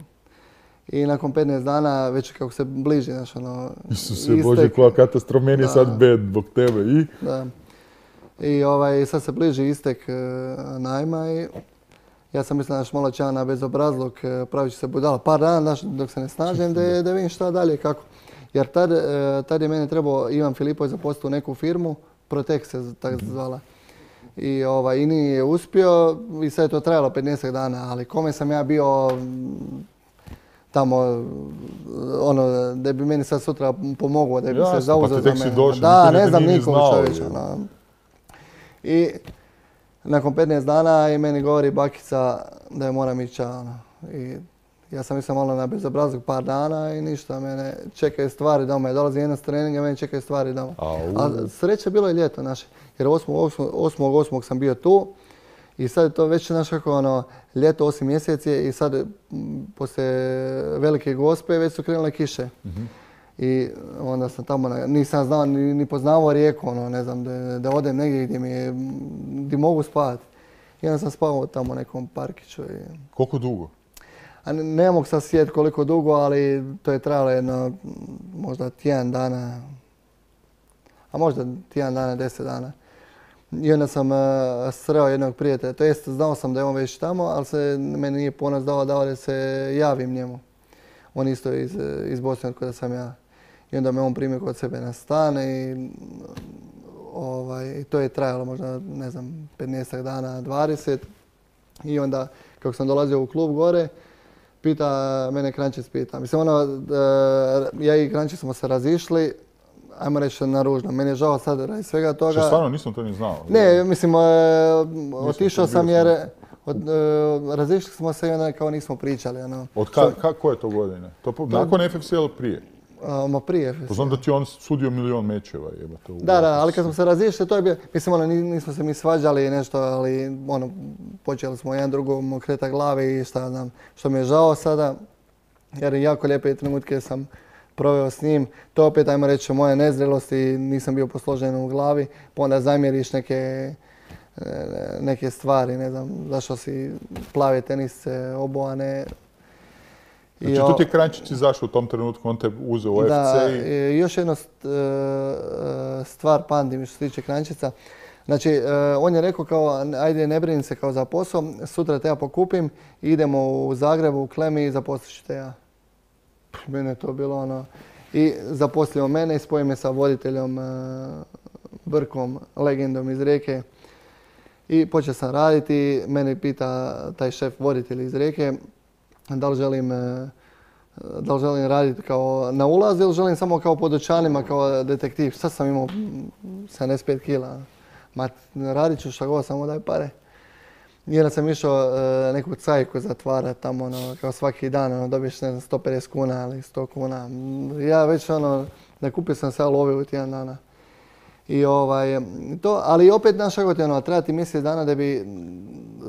i, i nakon petnaest dana, već kako se bliži, znaš ono... Isuse Bože, koja katastrofa, meni je sad bed zbog tebe i... Da. I ovaj, sad se bliži istek uh, najma i ja sam mislio da malo će na bezobrazluk, pravit ću se budala par dana dok se ne snažem da, da vidim šta dalje kako. Jer tad, tad je mene trebao Ivan Filipović zaposliti u neku firmu, Protek se tako zvala. I, ovaj, i nije uspio i sad je to trajalo petnaest dana, ali kome sam ja bio tamo, ono, da bi meni sad sutra pomogao, da bi Jasno, se zauzeo pa za mene. Došli, da, ne znam nikom čovječa. No. I nakon petnaest dana i meni govori bakica da je moram ići. Ono. I ja sam mislio malo na bezobrazluk par dana i ništa. Mene čekaju stvari doma. Ja dolazim jedan s treninga, mene čekaju stvari doma. A sreća bilo je ljeto naše. Jer osmog osmog sam bio tu i sad je to već naš kako ono, ljeto osam mjeseci i sad poslije Velike Gospe već su krenule kiše. Mm-hmm. I onda sam tamo, nisam znao, ni, ni poznavao Rijeku, ono, ne znam, da, da odem negdje gdje, mi je, gdje mogu spavati. I onda sam spavao tamo u nekom parkiću. I... Koliko dugo? A ne, ne mogu sad sjetiti koliko dugo, ali to je trajalo jedno, možda tjedan dana, a možda tjedan dana, deset dana. I onda sam uh, sreo jednog prijatelja, to jest znao sam da je on već tamo, ali se meni nije ponos dao, dao da se javim njemu. On isto iz, iz Bosne od kada sam ja. I onda me on primio kod sebe na stan i ovaj, to je trajalo možda, ne znam, petnaest dana, dvadeset. I onda, kako sam dolazio u klub gore, pita mene Krančić, pita. Mislim, ono, ja i Krančić smo se razišli, ajmo reći na ružno. Meni je žao sad radi svega toga. Što stvarno nisam to ni znao? Ne, mislim, otišao sam jer... Od, uh, razišli smo se i onda kao nismo pričali. Ono. Od ka, ka, koje to godine? To, to nakon F F C ili prije? Uh, ma prije F F C. Poznam da ti on sudio milion mečeva. Jebate, da, da, ali kad smo se razišli, to je bio, mislim, ono, nismo se mi svađali nešto, ali ono, počeli smo jedan drugom okretati glave i šta znam, što mi je žao sada, jer jako lijepe trenutke sam proveo s njim. To opet, ajmo reći, moje nezrelosti, nisam bio posložen u glavi, pa onda zamjeriš neke neke stvari, ne znam, zašto si plave tenisce, obojane. Znači, tu ti je Krančić izašao u tom trenutku, on te uzeo u F C da, i... i... još jedna stvar pamtim što se tiče Krančica. Znači, on je rekao kao, ajde ne brini se kao za posao, sutra te ja pokupim, idemo u Zagrebu, u Klemi i zaposlit ću te ja. Mene je to bilo ono... I zaposlio mene i spojio me sa voditeljom Brkom, legendom iz Rijeke. I počeo sam raditi, mene pita taj šef voditelj iz Rijeke da li želim, da li želim raditi kao na ulaz ili želim samo kao po dućanima, kao detektiv. Sad sam imao sedamdeset pet kila. Ma radit ću šta god, samo daj pare. I onda sam išao neku cajku zatvarati tamo, ono, kao svaki dan, ono, dobiješ ne znam, sto pedeset kuna ili sto kuna. Ja već ono, nakupio sam sve love u tjedan dana. I ovaj, to, ali opet, znaš kako ti ono, treba ti mjesec dana da bi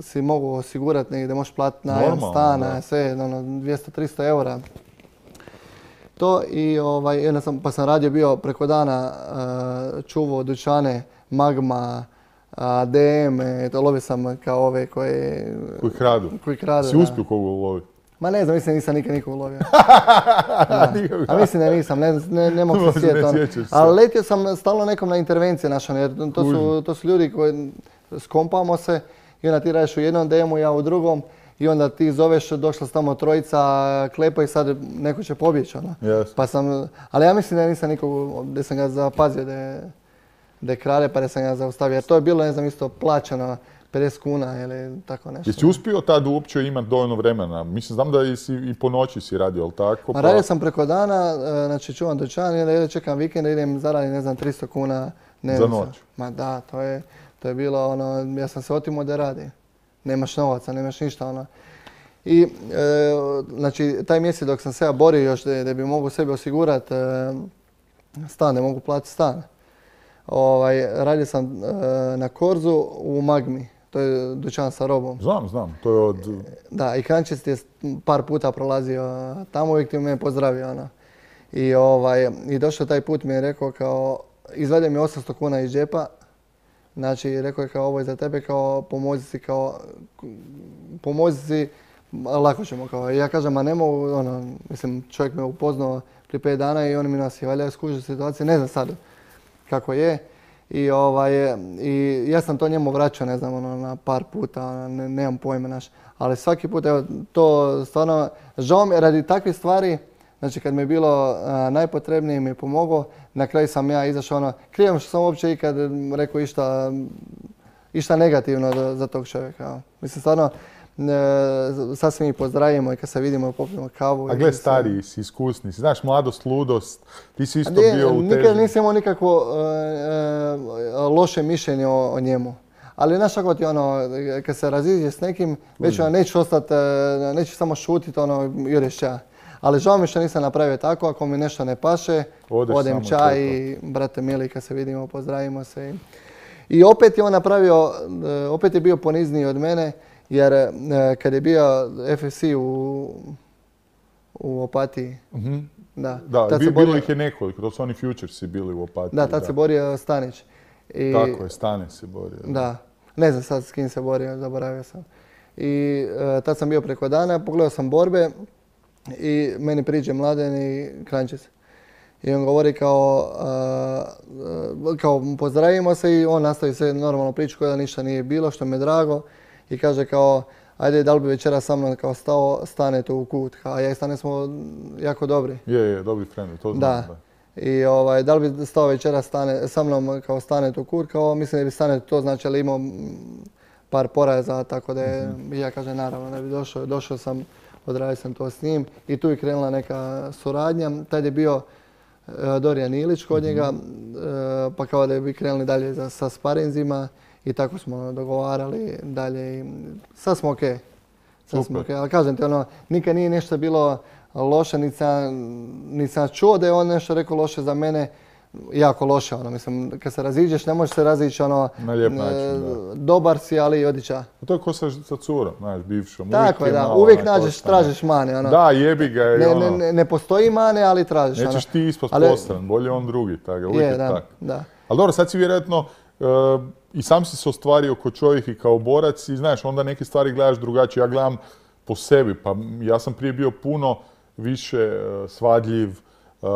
si mogu osigurati negdje, da možeš platiti najam stana, sve, ono, dvjesto do tristo eura. To i ovaj, jedna sam, pa sam radio bio preko dana, uh, čuvao dućane, Magma, uh, D M, to lovio sam kao ove koje... Koji kradu. Koji kradu, si uspio koga uloviti? Ma ne znam, mislim nisam nikad nikog ulovio. A mislim da nisam, ne, ne, ne mogu se sjetiti. Ali letio sam stalno nekom na intervencije našom, jer to su, to su ljudi koji skompamo se i onda ti radiš u jednom D M-u, ja u drugom. I onda ti zoveš, došla s tamo trojica, klepa i sad neko će pobjeći. Ono. Yes. Pa sam, ali ja mislim da nisam nikog, da sam ga zapazio da je, da je krade pa da sam ga zaustavio. Jer to je bilo, ne znam, isto plaćano pedeset kuna ili tako nešto. Jesi uspio tad uopće imati dovoljno vremena? Mislim, znam da si i po noći si radio, ali tako? Pa radio sam preko dana, znači čuvam dućan i onda čekam vikend da idem zaradim, ne znam, tristo kuna dnevnica. Za noć? Ma da, to je, to je bilo ono, ja sam se otimo da radi. Nemaš novaca, nemaš ništa. Ono. I e, znači, taj mjesec dok sam se ja borio još da, da bi mogu sebi osigurati e, stan, da mogu platiti stan. Ovaj, radio sam e, na Korzu u Magmi, to je dućan sa robom. Znam, znam, to je od... Da, i Kranjčec je par puta prolazio tamo, uvijek ti me pozdravio. Ono. I, ovaj, I došao taj put mi je rekao kao, izvadio mi osamsto kuna iz džepa. Znači, rekao je kao ovo je za tebe, kao pomozi si, kao pomozi si, lako ćemo kao. I ja kažem, ma ne mogu, ono, mislim, čovjek me upoznao prije pet dana i on mi nas je valjda skužio situacije, ne znam sad kako je. I, ovaj, i ja sam to njemu vraćao, ne znam, ono, na par puta, ne, nemam pojma naš. Ali svaki put, evo, to stvarno, žao mi je radi takvih stvari. Znači, kad mi je bilo a, najpotrebnije mi je pomogao, na kraju sam ja izašao ono, krijem što sam uopće ikad rekao išta, išta negativno za, za tog čovjeka. Mislim, stvarno, e, sad se mi pozdravimo i kad se vidimo popijemo kavu. A gle, stariji si, iskusni si, znaš, mladost, ludost, ti si isto nije, bio u težnji. Nikad nisam imao nikakvo e, e, loše mišljenje o, o njemu. Ali znaš kako ti ono, kad se raziđe s nekim, već ono, neću ostati, neću samo šutiti, ono, ideš ja. Ali žao mi što nisam napravio tako, ako mi nešto ne paše, Odeš odem čaj i brate mili kad se vidimo, pozdravimo se. I opet je on napravio, opet je bio ponizniji od mene, jer kad je bio F F C u, u Opatiji, mm-hmm. da, da tad bilo borio, ih je nekoliko, to su oni Futuresi bili u Opatiji. Da, tad da. se borio Stanić. I, tako je, Stanić se borio. Da. da, ne znam sad s kim se borio, zaboravio sam. I uh, tad sam bio preko dana, pogledao sam borbe. I meni priđe Mladen i Kranjčec. I on govori kao, uh, kao pozdravimo se i on nastavi sve normalno priču koja ništa nije bilo, što mi je drago. I kaže kao, ajde da li bi večera sa mnom kao stao, stanete u kut. A ja i Stane smo jako dobri. Je, je, dobri friendovi, to znam. Da. da. I ovaj, da li bi stao večera stane, sa mnom kao stanete u kut, kao mislim da bi Stane to znači, ali imao par poraza, tako da je, mm-hmm. ja kažem naravno da bi došao, došao sam. Odradio sam to s njim i tu je krenula neka suradnja. Tad je bio uh, Dorijan Ilić kod njega, uh, pa kao da bi krenuli dalje za, sa sparinzima i tako smo dogovarali dalje. I sad smo okej. Okay. Sad okay. Ali kažem ti, ono, nikad nije nešto bilo loše, niti sam, niti sam čuo da je on nešto rekao loše za mene. Jako loše, ono, mislim, kad se raziđeš, ne možeš se razići, ono, na lijep način, da. Dobar si, ali odića. To je ko sa, sa curom, znaš, bivšom. Tako je, da, uvijek nađeš, tražiš mane, ono. Da, jebi ga i ne, ono. Ne, ne postoji mane, ali tražiš, nećeš ono. ti ispast ali, postran, bolje on drugi, tako, uvijek je, je da, tak. Da. Ali dobro, sad si vjerojatno, uh, i sam si se ostvario kao čovjek i kao borac i znaš, onda neke stvari gledaš drugačije. Ja gledam po sebi, pa ja sam prije bio puno više uh, svadljiv, Uh,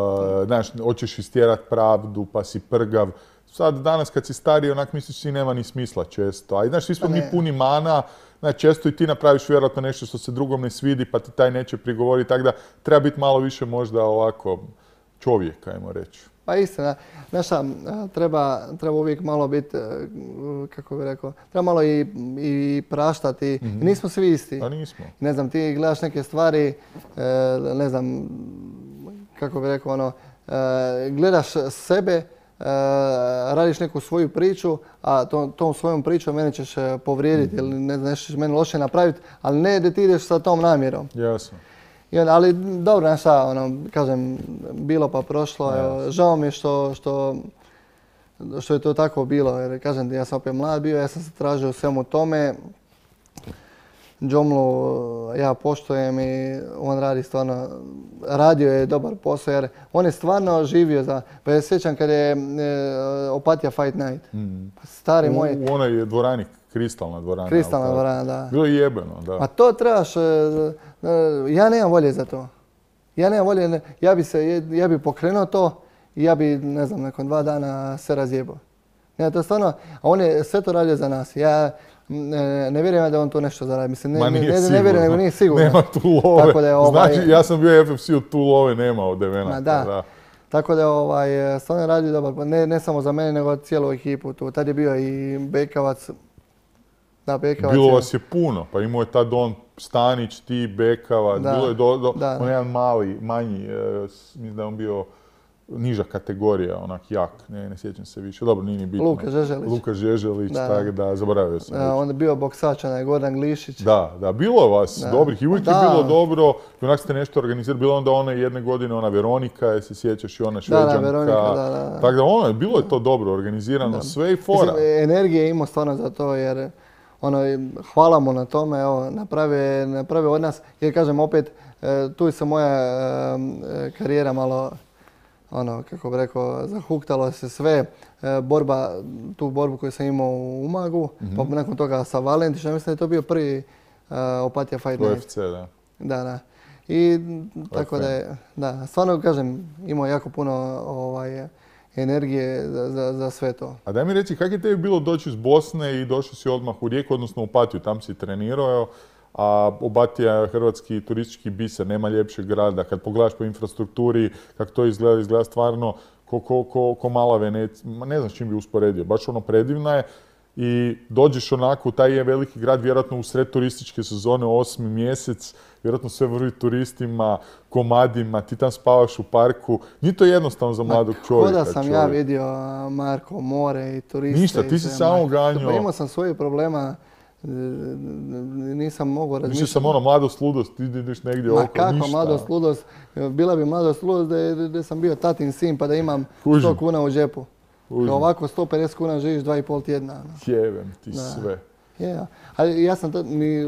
znaš, hoćeš istjerat pravdu, pa si prgav. Sad, danas kad si stariji, onak misliš si nema ni smisla često. A znaš, svi smo mi puni mana, znači, često i ti napraviš vjerojatno nešto što se drugom ne svidi, pa ti taj neće prigovoriti, tako da treba biti malo više možda ovako čovjek, ajmo reći. Pa istina, znaš šta, treba, treba uvijek malo biti, kako bih rekao, treba malo i, i praštati. Mm-hmm. Nismo svi isti. A nismo. Ne znam, ti gledaš neke stvari, ne znam, kako bih rekao, ono, gledaš sebe, radiš neku svoju priču, a to, tom svojom pričom mene ćeš povrijediti ili ne znam, nešto ćeš meni loše napraviti, ali ne da ti ideš sa tom namjerom. Jasno. I on, ali dobro, znaš šta, ono, kažem, bilo pa prošlo. Yes. Žao mi je što, što, što je to tako bilo. Jer kažem, ja sam opet mlad bio, ja sam se tražio u svemu tome. Džomlu ja poštujem i on radi stvarno, radio je dobar posao jer on je stvarno živio za, pa ja sjećam kad je e, Opatija Fight Night. Mm. Stari u, moj. U onoj dvorani, kristalna dvorana. Kristalna dvorana, da. Bilo je jebeno, da. A to trebaš, e, ja nemam volje za to. Ja nemam volje, ja bi se, ja bi pokrenuo to i ja bi, ne znam, nakon dva dana se razjebao. Ja to stvarno, a on je sve to radio za nas. Ja, Ne, ne vjerujem da on to nešto zaradi. Mislim, ne, ne, ne, ne vjerujem, nego nije sigurno. Nema tu love. Tako da je, ovaj, znači, ja sam bio F F C, od tu love nema od Devenata. Da. da. Tako da je ovaj, stvarno radio dobar, ne, ne samo za mene, nego cijelu ekipu tu. Tad je bio i Bekavac. Da, Bekavac bilo je... vas je puno, pa imao je tad on Stanić, ti, Bekavac, da. Bilo je do, do, da. on jedan mali, manji, e, mislim da je on bio niža kategorija, onak jak, ne, ne sjećam se više, dobro, nije ni bitno. Luka Žeželić. Luka Žeželić, da. Tako da, zaboravio sam. Da, onda je bio boksač, onaj Gordan Glišić. Da, da, bilo je vas da. dobrih i uvijek da. je bilo dobro, i onak ste nešto organizirali, bilo onda one jedne godine, ona Veronika, je se sjećaš i ona Šveđanka. Da, da, Veronika, da, da. Tako da ono, bilo je to dobro organizirano, da. sve i fora. Mislim, energije imao stvarno za to, jer ono, hvala mu na tome, evo, naprave, naprave od nas, jer kažem opet, tu se moja karijera malo, ono, kako bi rekao, zahuktalo se sve, e, borba, tu borbu koju sam imao u Umagu, mm-hmm. pa nakon toga sa Valentićem, mislim da je to bio prvi uh, Opatija Fight Night. U F C, da. Da, da. I tako da je, da, stvarno kažem, imao jako puno ovaj, energije za, za, za sve to. A daj mi reci, kako je tebi bilo doći iz Bosne i došao si odmah u Rijeku, odnosno u Opatiju, tam si trenirao, a Opatija je hrvatski turistički biser, nema ljepšeg grada. Kad pogledaš po infrastrukturi, kako to izgleda, izgleda stvarno ko, ko, ko, ko mala Venecija. Ne znam s čim bi usporedio, baš ono predivna je. I dođeš onako u taj je veliki grad, vjerojatno u sred turističke sezone, osmi mjesec, vjerojatno sve vrvi turistima, komadima, ti tam spavaš u parku. Nije to jednostavno za mladog čovjeka. Koda sam čovjek. ja vidio Marko, more i turiste. Ništa, ti si samo ganjao. Pa imao sam svoje problema. Nisam mogao razmišljati. Mislio sam ono mladost, ludost, ti ideš negdje oko, ništa. Ma kako mladost, ludost? Bila bi mladost, ludost da, da sam bio tatin sin pa da imam Kužim. sto kuna u džepu. Da ovako sto pedeset kuna živiš dva i pol tjedna. No. Jebem ti da. sve. Yeah. Ali ja sam tad, ni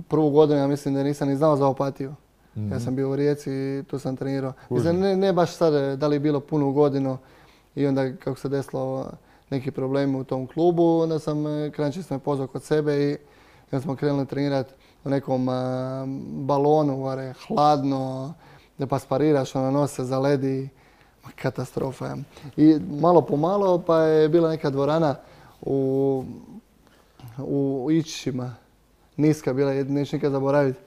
prvu godinu, ja mislim da nisam ni znao za Opatiju. Mm-hmm. Ja sam bio u Rijeci i tu sam trenirao. Mislim, ne, ne baš sad da li je bilo punu godinu i onda kako se desilo neki problemi u tom klubu, onda sam Krančić me pozvao kod sebe i onda smo krenuli trenirati u nekom uh, balonu, vare, hladno, da pa spariraš, ono nos se zaledi, katastrofa. I malo po malo pa je bila neka dvorana u, u Ičićima, niska bila, neću nikad zaboraviti,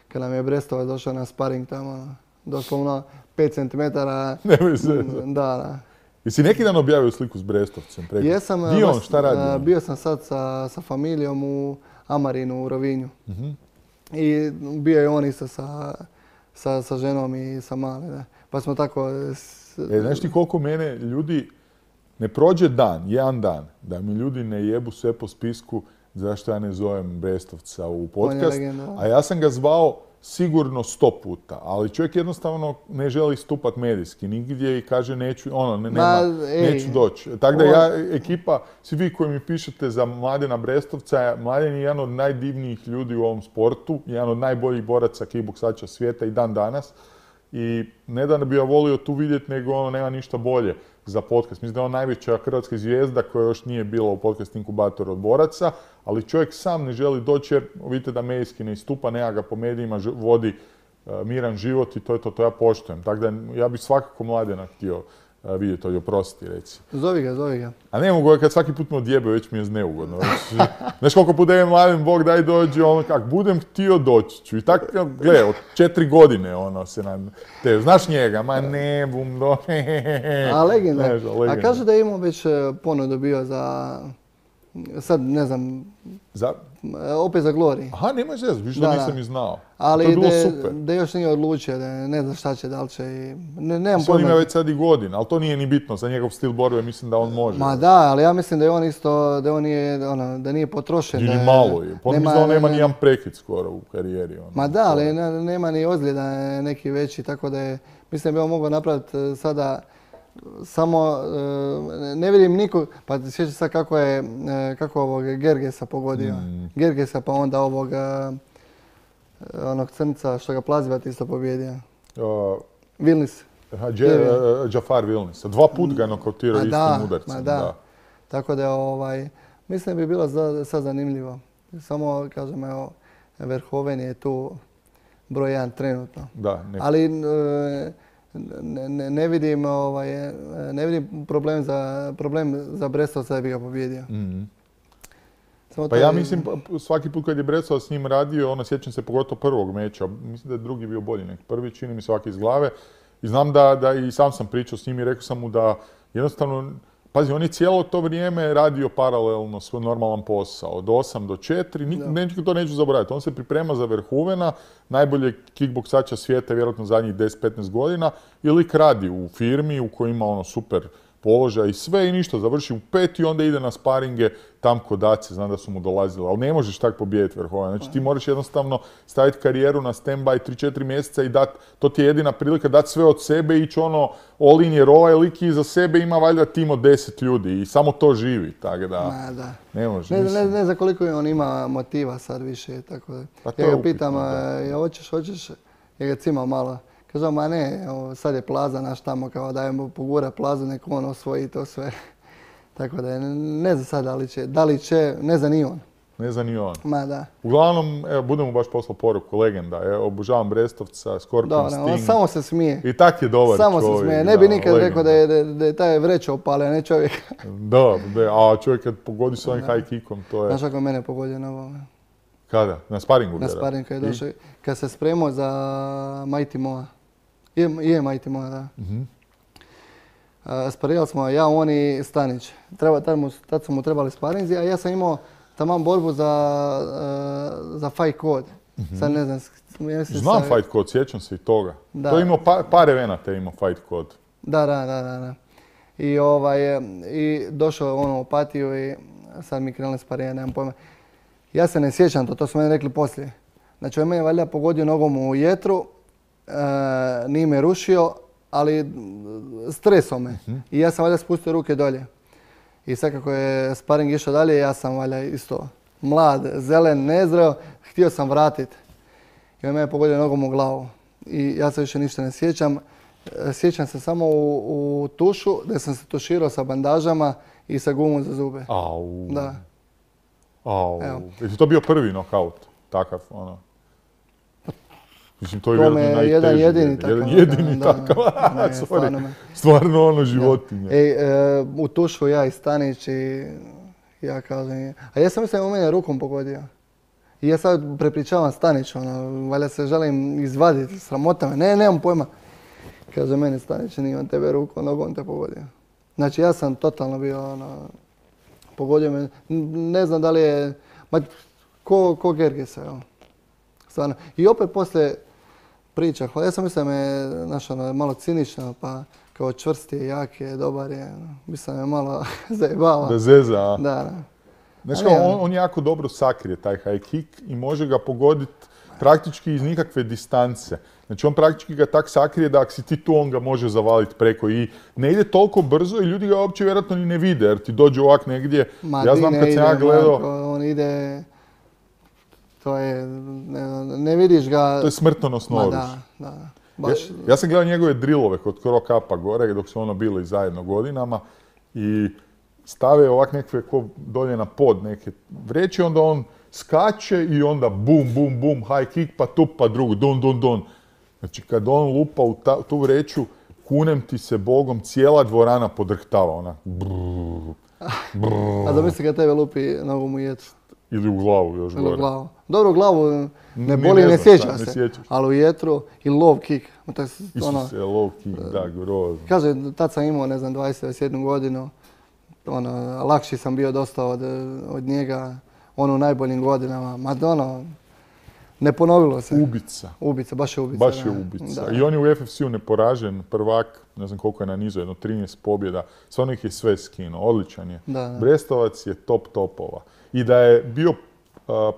kad nam je Brestovac došao na sparing tamo, doslovno pet centimetara. Nemoj se. Da, da. Jesi neki dan objavio sliku s Brestovcem? Preko? Jesam. Gdje on, šta radi? Bio sam sad sa, sa familijom u Amarinu u Rovinju. Uh-huh. I bio je on isto sa, sa, sa ženom i sa mali. Da. Pa smo tako... S... E, znaš ti koliko mene ljudi... Ne prođe dan, jedan dan, da mi ljudi ne jebu sve po spisku zašto ja ne zovem Brestovca u podcast. A ja sam ga zvao sigurno sto puta, ali čovjek jednostavno ne želi stupat medijski nigdje i kaže neću, ono, ne, nema, Ma, neću doći. Tako da ja, ekipa, svi vi koji mi pišete za Mladena Brestovca, Mladen je jedan od najdivnijih ljudi u ovom sportu, jedan od najboljih boraca kickboksača svijeta i dan danas. I ne da bi ja volio tu vidjeti, nego ono, nema ništa bolje za podcast. Mislim da je on najveća hrvatska zvijezda koja još nije bila u podcast inkubatoru od boraca, ali čovjek sam ne želi doći jer vidite da medijski ne istupa, nema ga po medijima, vodi uh, miran život i to je to, to ja poštujem. Tako da ja bih svakako Mladena htio uh, vidjeti, ovdje oprosti, reci. Zovi ga, zovi ga. A ne mogu, kad svaki put me odjebe, već mi je zneugodno. Znaš koliko puta je Mladen, Bog daj dođi, ono kak budem htio doći ću. I tako, gle, od četiri godine ono se nam... Te, znaš njega? Ma ne, bum, do... A legenda. Ne, legenda. A kaže da je imao već ponudu bio za... Sad, ne znam... Za... Opet za Glory. Aha, nemoj zez, više da nisam i znao. Ali to je bilo de, super. Da još nije odlučio, da ne zna šta će, da li će i... Ne, nemam pojma. On ima već sad i godina, ali to nije ni bitno. Za njegov stil borbe mislim da on može. Ma da, ali ja mislim da je on isto, da on nije, ono, da nije potrošen. Ili malo je. Pa nema, on nema ni jedan prekid skoro u karijeri. Ono. Ma da, ali ne, nema ni ozljeda neki veći, tako da je... Mislim da bi on mogao napraviti sada samo e, ne vidim nikog, pa sjećam sad kako je, e, kako ovog Gergesa pogodio. Mm. Gergesa pa onda ovog e, onog crnca što ga Plazivat isto pobjedio. Uh, Vilnis. Džafar Vilnis. Dva put ga nokautirao istim da, udarcem. Da. Da. Tako da ovaj, mislim da bi bilo za, sad zanimljivo. Samo kažem, evo, Verhoeven je tu broj jedan trenutno. Da, ali e, ne, ne, ne vidim ovaj, ne vidim problem za, problem za Brestovca da bi ga pobjedio. Mm-hmm. Samo pa taj... ja mislim, svaki put kad je Brestovac s njim radio, ono, sjećam se pogotovo prvog meča, mislim da je drugi bio bolji nek. Prvi čini mi svaki iz glave. I znam da, da i sam sam pričao s njim i rekao sam mu da jednostavno, pazi, on je cijelo to vrijeme radio paralelno svoj normalan posao, od osam do četiri, ne, to neću zaboraviti. On se priprema za Verhoevena, najboljeg kickboksača svijeta, vjerojatno zadnjih deset do petnaest godina, i lik radi u firmi u kojoj ima ono super položaj i sve i ništa, završi u pet i onda ide na sparinge tam kod Dace, znam da su mu dolazili, ali ne možeš tako pobijediti Verhoevena. Znači ti moraš jednostavno staviti karijeru na stand-by tri četiri mjeseca i dati, to ti je jedina prilika dati sve od sebe i ići ono all in, jer ovaj lik iza sebe ima valjda tim od deset ljudi i samo to živi, tako da, Ma, da. ne može. Ne, ne, ne znam koliko on ima motiva sad više, tako da. Pa ja ga pitam, ja hoćeš, hoćeš, ja ga cimam malo. Kažem, ma ne, sad je Plaza naš tamo, kao dajemo pogura Plazu, nek on osvoji to sve. Tako da ne znam sad da li će, da li će, ne zna ni on. Ne zna ni on. Ma da. Uglavnom, evo, budemo baš poslao poruku, legenda, evo, obužavam Brestovca, Scorpion Sting. On samo se smije. I tak je dobar samo čovjek. Samo se smije, ne bi da, nikad legenda. Rekao da je, da, da je taj vreća opalio, ne čovjek. Da, da, a čovjek kad pogodi s ovim high kickom, to je... Znaš kako mene pogodio na ovome? Kada? Na sparingu? Na sparingu kad je došao, kad se spremao za Mighty Moa. Je, je Mighty Moa, da. Uh-huh. Uh, sparirali smo ja, on i Stanić. Treba, tad, mu, tad su mu trebali sparinzi, a ja sam imao taman borbu za, uh, za Fight Code. Uh-huh. Sad ne znam, ja mislim znam sa... Fight Code, sjećam se i toga. Da. To je imao pa, par evenata, imao Fight Code. Da, da, da, da. da. I, ovaj, i došao on u Opatiju i sad mi krenuli sparirati, nemam pojma. Ja se ne sjećam to, to su meni rekli poslije. Znači on me je valjda pogodio nogom u jetru, e, nije me rušio, ali stresao me. Uh-huh. I ja sam valjda spustio ruke dolje. I sad kako je sparing išao dalje, ja sam valjda isto mlad, zelen, nezreo, htio sam vratiti. I on me je pogodio nogom u glavu. I ja se više ništa ne sjećam. Sjećam se samo u, u tušu, da sam se tuširao sa bandažama i sa gumom za zube. Au. Da. Au. Je to bio prvi nokaut? Takav, ono. Mislim, to je to me je jedan jedini takav. Jedan jedini da, takav. Da, ne, stvarno, stvarno ono životinje. Ej, e, u tušu ja i Stanić i ja kažem... A ja sam mislim da u mene rukom pogodio. I ja sad prepričavam Stanić, ono, valjda se želim izvaditi, sramota me. Ne, nemam pojma. Kaže meni Stanić, nije on tebe rukom, nogom te pogodio. Znači ja sam totalno bio, ono, pogodio me. Ne znam da li je, ma, ko, ko Gergesa, evo. Stvarno. I opet poslije priča, ja sam mislio da me, znaš, ono, malo cinično, pa kao čvrst je, jak je, dobar je, no. Mislim da me malo zajebava. Da zeza, a? Da, da. Znaš kao, on, on jako dobro sakrije taj high kick i može ga pogoditi praktički iz nikakve distance. Znači on praktički ga tak sakrije da ako si ti tu, on ga može zavaliti preko i ne ide toliko brzo i ljudi ga uopće vjerojatno ni ne vide jer ti dođe ovak negdje. Ma, ja znam kad sam ja gledao... Marko, on ide... To je... Ne, ne vidiš ga... To je smrtonosno oružje. Da, da. Baš... Ja, ja sam gledao njegove drillove kod Croc Upa gore dok su ono bili zajedno godinama i stave ovak nekakve ko dolje na pod neke vreće, onda on skače i onda bum, bum, bum, high kick, pa tup, pa drugu, dun, dun, dun. Znači kad on lupa u ta, tu vreću, kunem ti se Bogom, cijela dvorana podrhtava, ona. Brrr, brrr. A zamisli kad tebe lupi nogom u jetru. Ili u glavu još gore. Ili u glavu. Dobro, u glavu ne boli, ne, ne sjeća se. Ne ali u jetru i low kick. Isuse, low kick, da, grozno. Kaže, tad sam imao, ne znam, dvadeset, dvadeset jednu godinu. Ono, lakši sam bio dosta od, od njega. Ono u najboljim godinama. Ma ono, ne ponovilo se. Ubica. Ubica, baš je ubica. Baš je ubica. Da. I on je u F F C-u neporažen, prvak, ne znam koliko je na nizu, jedno trinaest pobjeda. Stvarno ih je sve skinuo, odličan je. Da, da. Brestovac je top topova. I da je bio uh,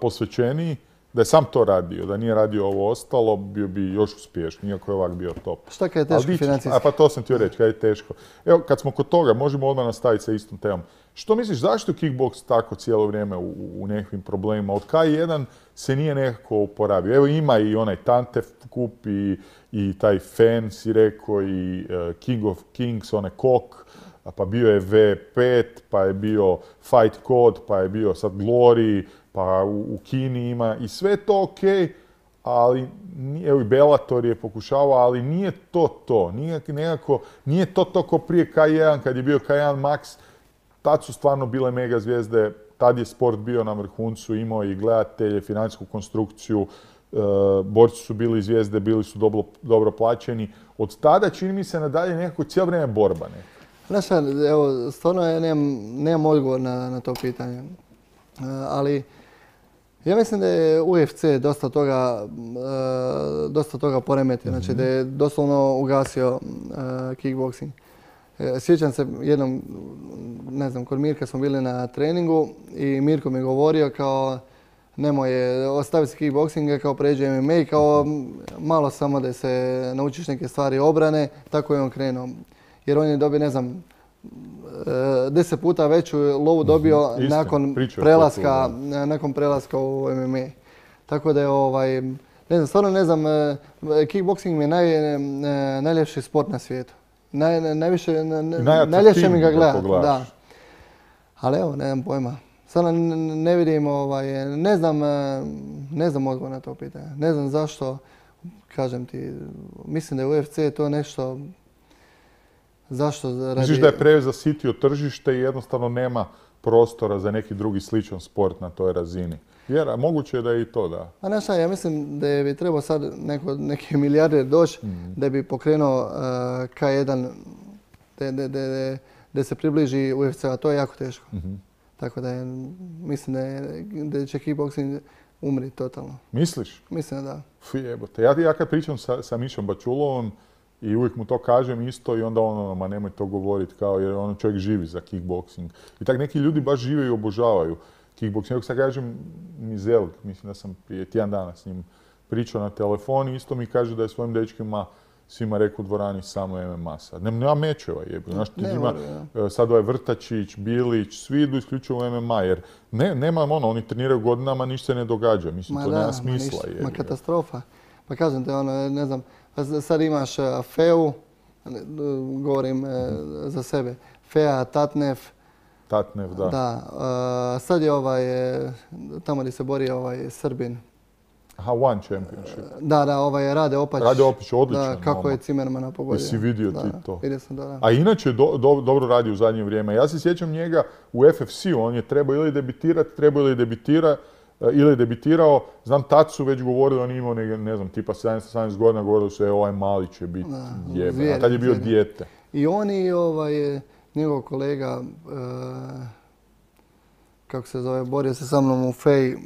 posvećeniji, Da je sam to radio, da nije radio ovo ostalo, bio bi još uspješniji, iako je ovak bio top. Šta kad je teško financijski? A pa to sam ti reći, kad je teško. Evo, kad smo kod toga, možemo odmah nastaviti sa istom temom. Što misliš, zašto je kickboks tako cijelo vrijeme u, u nekakvim problemima? Od K jedan se nije nekako oporavio. Evo ima i onaj Tantef kup i, i taj Fan, si rekao, i uh, King of Kings, onaj Kok, pa bio je V pet, pa je bio Fight Code, pa je bio sad Glory, pa u, u Kini ima i sve to ok, ali evo i Bellator je pokušavao, ali nije to to. Nije, nekako, nije to to ko prije K jedan, kad je bio K jedan Max, tad su stvarno bile mega zvijezde, tad je sport bio na vrhuncu, imao i gledatelje, financijsku konstrukciju, e, borci su bili zvijezde, bili su dobro, dobro plaćeni. Od tada čini mi se nadalje nekako cijelo vrijeme borba neka. Znaš šta, evo, stvarno ja nemam, nemam odgovor na, na to pitanje. E, ali ja mislim da je U F C dosta toga, e, dosta toga poremetio, mm-hmm. znači da je doslovno ugasio e, kickboxing. E, sjećam se jednom, ne znam, kod Mirka smo bili na treningu i Mirko mi je govorio kao nemoj, ostavi se kickboxing, kao pređe M M A, kao malo samo da se naučiš neke stvari obrane, tako je on krenuo. Jer on je dobio, ne znam, deset puta veću lovu dobio Istin, nakon prelaska, nakon prelaska u M M A. Tako da je ovaj, ne znam, stvarno ne znam, kickboxing mi je naj, najljepši sport na svijetu. Naj, najviše, najljepše mi ga gledati. Da. Ali evo, nemam pojma. Sada ne vidim, ovaj, ne znam, ne znam odgovor na to pitanje. Ne znam zašto, kažem ti, mislim da je U F C to nešto. Zašto? Radi... Misliš da je prezasitio tržište i jednostavno nema prostora za neki drugi sličan sport na toj razini? Jer a moguće je da je i to, da. A znaš šta, ja mislim da bi trebao sad neko, neki milijarder doći mm. da bi pokrenuo uh, K jedan, da se približi U F C, a to je jako teško. Mm-hmm. Tako da je, mislim da, je, da će kickboxing umriti totalno. Misliš? Mislim da. Fi jebote. Ja, ja kad pričam sa, sa Mišom Bačulovom i uvijek mu to kažem isto i onda ono, ma nemoj to govoriti kao jer ono čovjek živi za kickboxing. I tak neki ljudi baš žive i obožavaju kickboxing. Evo sad kažem Mizel, mislim da sam prije tjedan dana s njim pričao na telefon i isto mi kaže da je svojim dečkima svima rekao u dvorani samo M M A sad. Nema mečeva jebi. Znaš, ti ima sad ovaj Vrtačić, Bilić, svi idu isključivo u M M A jer ne, nema ono, oni treniraju godinama, ništa se ne događa. Mislim, ma to da, nema smisla. Ma, ništa, ma katastrofa. Pa kažem te ono, ne znam, sad imaš Feu, govorim mm-hmm. za sebe, Fea, Tatnef. Tatnef, da. Da, uh, sad je ovaj, tamo gdje se bori ovaj Srbin. Aha, One Championship. Da, da, ovaj Rade Opać. Rade Opać, odličan. Da, kako je Cimermana pogodio. Jesi vidio da, ti to? Vidio sam, da, da. A inače do, do, dobro radi u zadnje vrijeme. Ja se sjećam njega u F F C-u, on je trebao ili debitirati, trebao ili debitira, ili je debitirao. Znam, tad su već govorili, on je imao ne, ne znam, tipa sedamnaest sedamnaest godina, govorili su, e, ovaj mali će biti jeben. A tad je bio dijete. I on i ovaj, njegov kolega, uh, kako se zove, borio se sa mnom u Fej,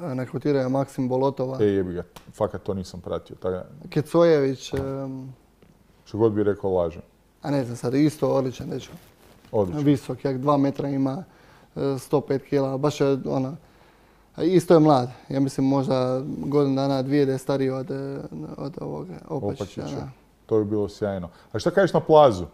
nakvotirao je Maksim Bolotova. E, jebi ga, fakat to nisam pratio. Taj... Kecojević. Um, Što god bi rekao, lažem. A ne znam sad, isto odličan dečko. Odličan. Visok, jak dva metra ima, sto pet kila, baš je ona... Isto je mlad, ja mislim možda godinu dana, dvije da je stariji od, od ovog Opačića. Opačića. To bi bilo sjajno. A šta kažeš na Plazu?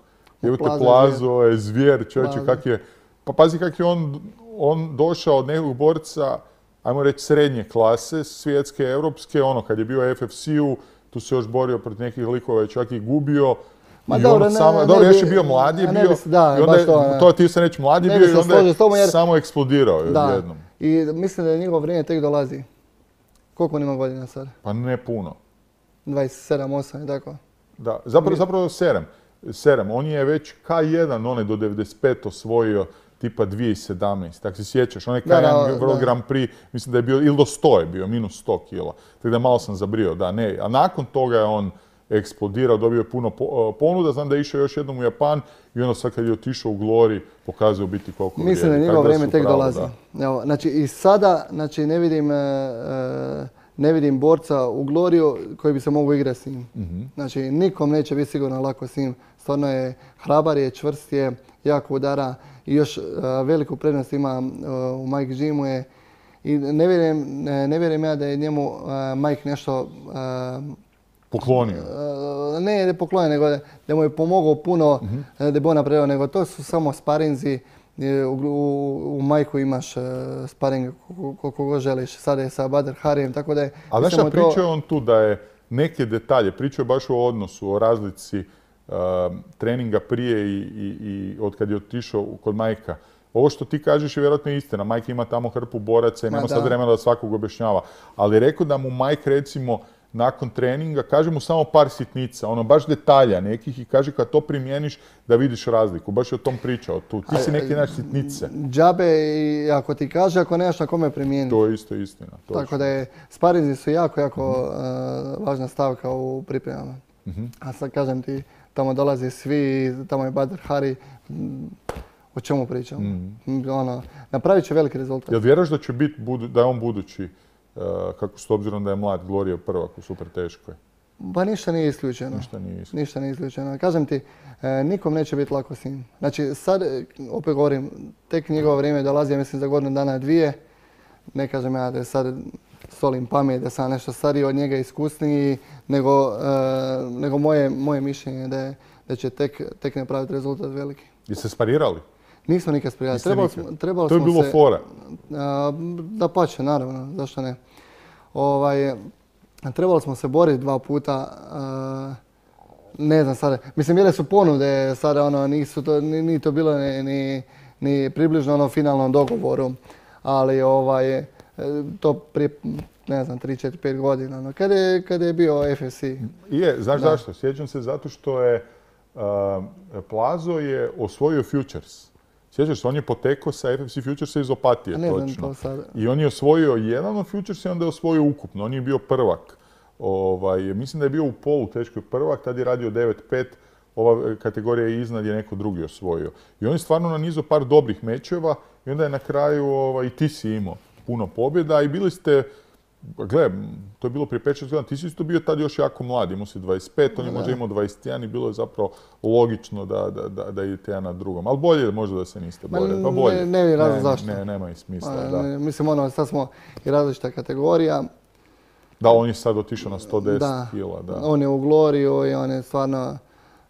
Jebate Plazu, je zvijer, čovječe, kak je... Pa pazi kak je on, on došao od nekog borca, ajmo reći srednje klase, svjetske, europske, ono kad je bio u F F C-u, tu se još borio protiv nekih likova i čak i gubio. Ma dobro, ne, samo, ne, dobro, ne, još je bio mladi, je bio, bi, da, i onda je, to, to ti se reći mladi ne bio i onda je jer, samo eksplodirao da. Jednom. I mislim da je njegovo vrijeme tek dolazi. Koliko on ima godina sad? Pa ne puno. dvadeset sedam, osam i tako. Da, zapravo, zapravo sedam. sedam. On je već K jedan, onaj do devedeset pet osvojio tipa dvije tisuće sedamnaeste. Tako se sjećaš, onaj K jedan World Grand Prix, mislim da je bio, ili do sto je bio, minus sto kila. Tako da malo sam zabrio, da, ne. A nakon toga je on eksplodirao, dobio je puno ponuda, znam da je išao još jednom u Japan i onda sad kad je otišao u Glory pokazao biti koliko vrijedi. Mislim da njegovo vrijeme tek dolazi. Evo, znači i sada znači, ne, vidim, e, ne vidim borca u Gloriju koji bi se mogao igrati s njim. Mm-hmm. Znači nikom neće biti sigurno lako s njim. Stvarno je hrabar je, čvrst je, jako udara i još uh, veliku prednost ima uh, u Mike Jimu je I ne vjerujem, ne vjerujem ja da je njemu uh, Mike nešto... Uh, poklonio? Uh, ne, ne poklonio, nego da, da mu je pomogao puno, uh-huh. da bi on napravio, nego to su samo sparinzi. U, u, u Majku imaš uh, sparing koliko god želiš, sada je sa Badr Harijem, tako da je... A znaš šta, pričao je on tu da je neke detalje, pričao je baš o odnosu, o razlici uh, treninga prije i, i, i od kad je otišao kod Majka. Ovo što ti kažeš je vjerojatno istina. Mike ima tamo hrpu boraca i nema Ma, sad vremena da svakog objašnjava. Ali rekao da mu Mike recimo nakon treninga kaže mu samo par sitnica, ono baš detalja nekih i kaže kad to primjeniš da vidiš razliku. Baš je o tom pričao tu. Ti si neki naš sitnice. Džabe i ako ti kaže, ako nemaš na kome primijeniti. To je isto istina. Točno. Tako da je, sparinzi su jako, jako mm-hmm. uh, važna stavka u pripremama. Mm-hmm. A sad kažem ti, tamo dolaze svi, tamo je Badr Hari. O čemu pričamo? Mm. Ono, napravit će veliki rezultat. Jel vjeraš da će biti, da je on budući, uh, kako s obzirom da je mlad, Gloria prvak u super teškoj? Pa ništa nije isključeno. Ništa nije isključeno. Ništa nije isključeno. Kažem ti, e, nikom neće biti lako s njim. Znači sad, opet govorim, tek njegovo vrijeme dolazi, ja mislim za godinu dana dvije. Ne kažem ja da je sad solim pamet, da sam nešto stariji od njega, iskusniji, nego, e, nego moje, moje mišljenje da, je, da će tek, tek napraviti rezultat veliki. I se sparirali? Nismo nikad sparirali. Trebali smo, trebali to je bilo se, fora? A, da pače, naravno, zašto ne. Ovaj, trebali smo se boriti dva puta, a, ne znam sada, mislim bile su ponude, sada ono, nisu to, ni to bilo ni, ni, ni približno ono finalnom dogovoru, ali ovaj, to prije, ne znam, tri, četiri, pet godina, no, kada je, kada je bio F F C. Je, znaš da. Zašto? Sjećam se zato što je uh, Plazo je osvojio Futures. Sjećaš se, on je potekao sa F F C Futuresa iz Opatije, ne točno. Znam to sad. I on je osvojio jedan od Futuresa i onda je osvojio ukupno. On je bio prvak. Ovaj, mislim da je bio u polu teškoj prvak, tad je radio devet pet, ova kategorija iznad je neko drugi osvojio. I on je stvarno nanizao par dobrih mečeva i onda je na kraju ovaj, i ti si imao puno pobjeda i bili ste, gle, to je bilo prije pet šest godina, ti si isto bio tad još jako mlad, imao si dvadeset pet, on je možda imao dvadeset jedan i bilo je zapravo logično da, da, da, da idete jedan na drugom. Ali bolje možda da se niste borili, pa bolje. Ne, ne vidim razlog zašto. Ne, nema i smisla, A, da. Ne, mislim, ono, sad smo i različita kategorija. Da, on je sad otišao na sto deset da, kila, da. On je u Gloriju i on je stvarno,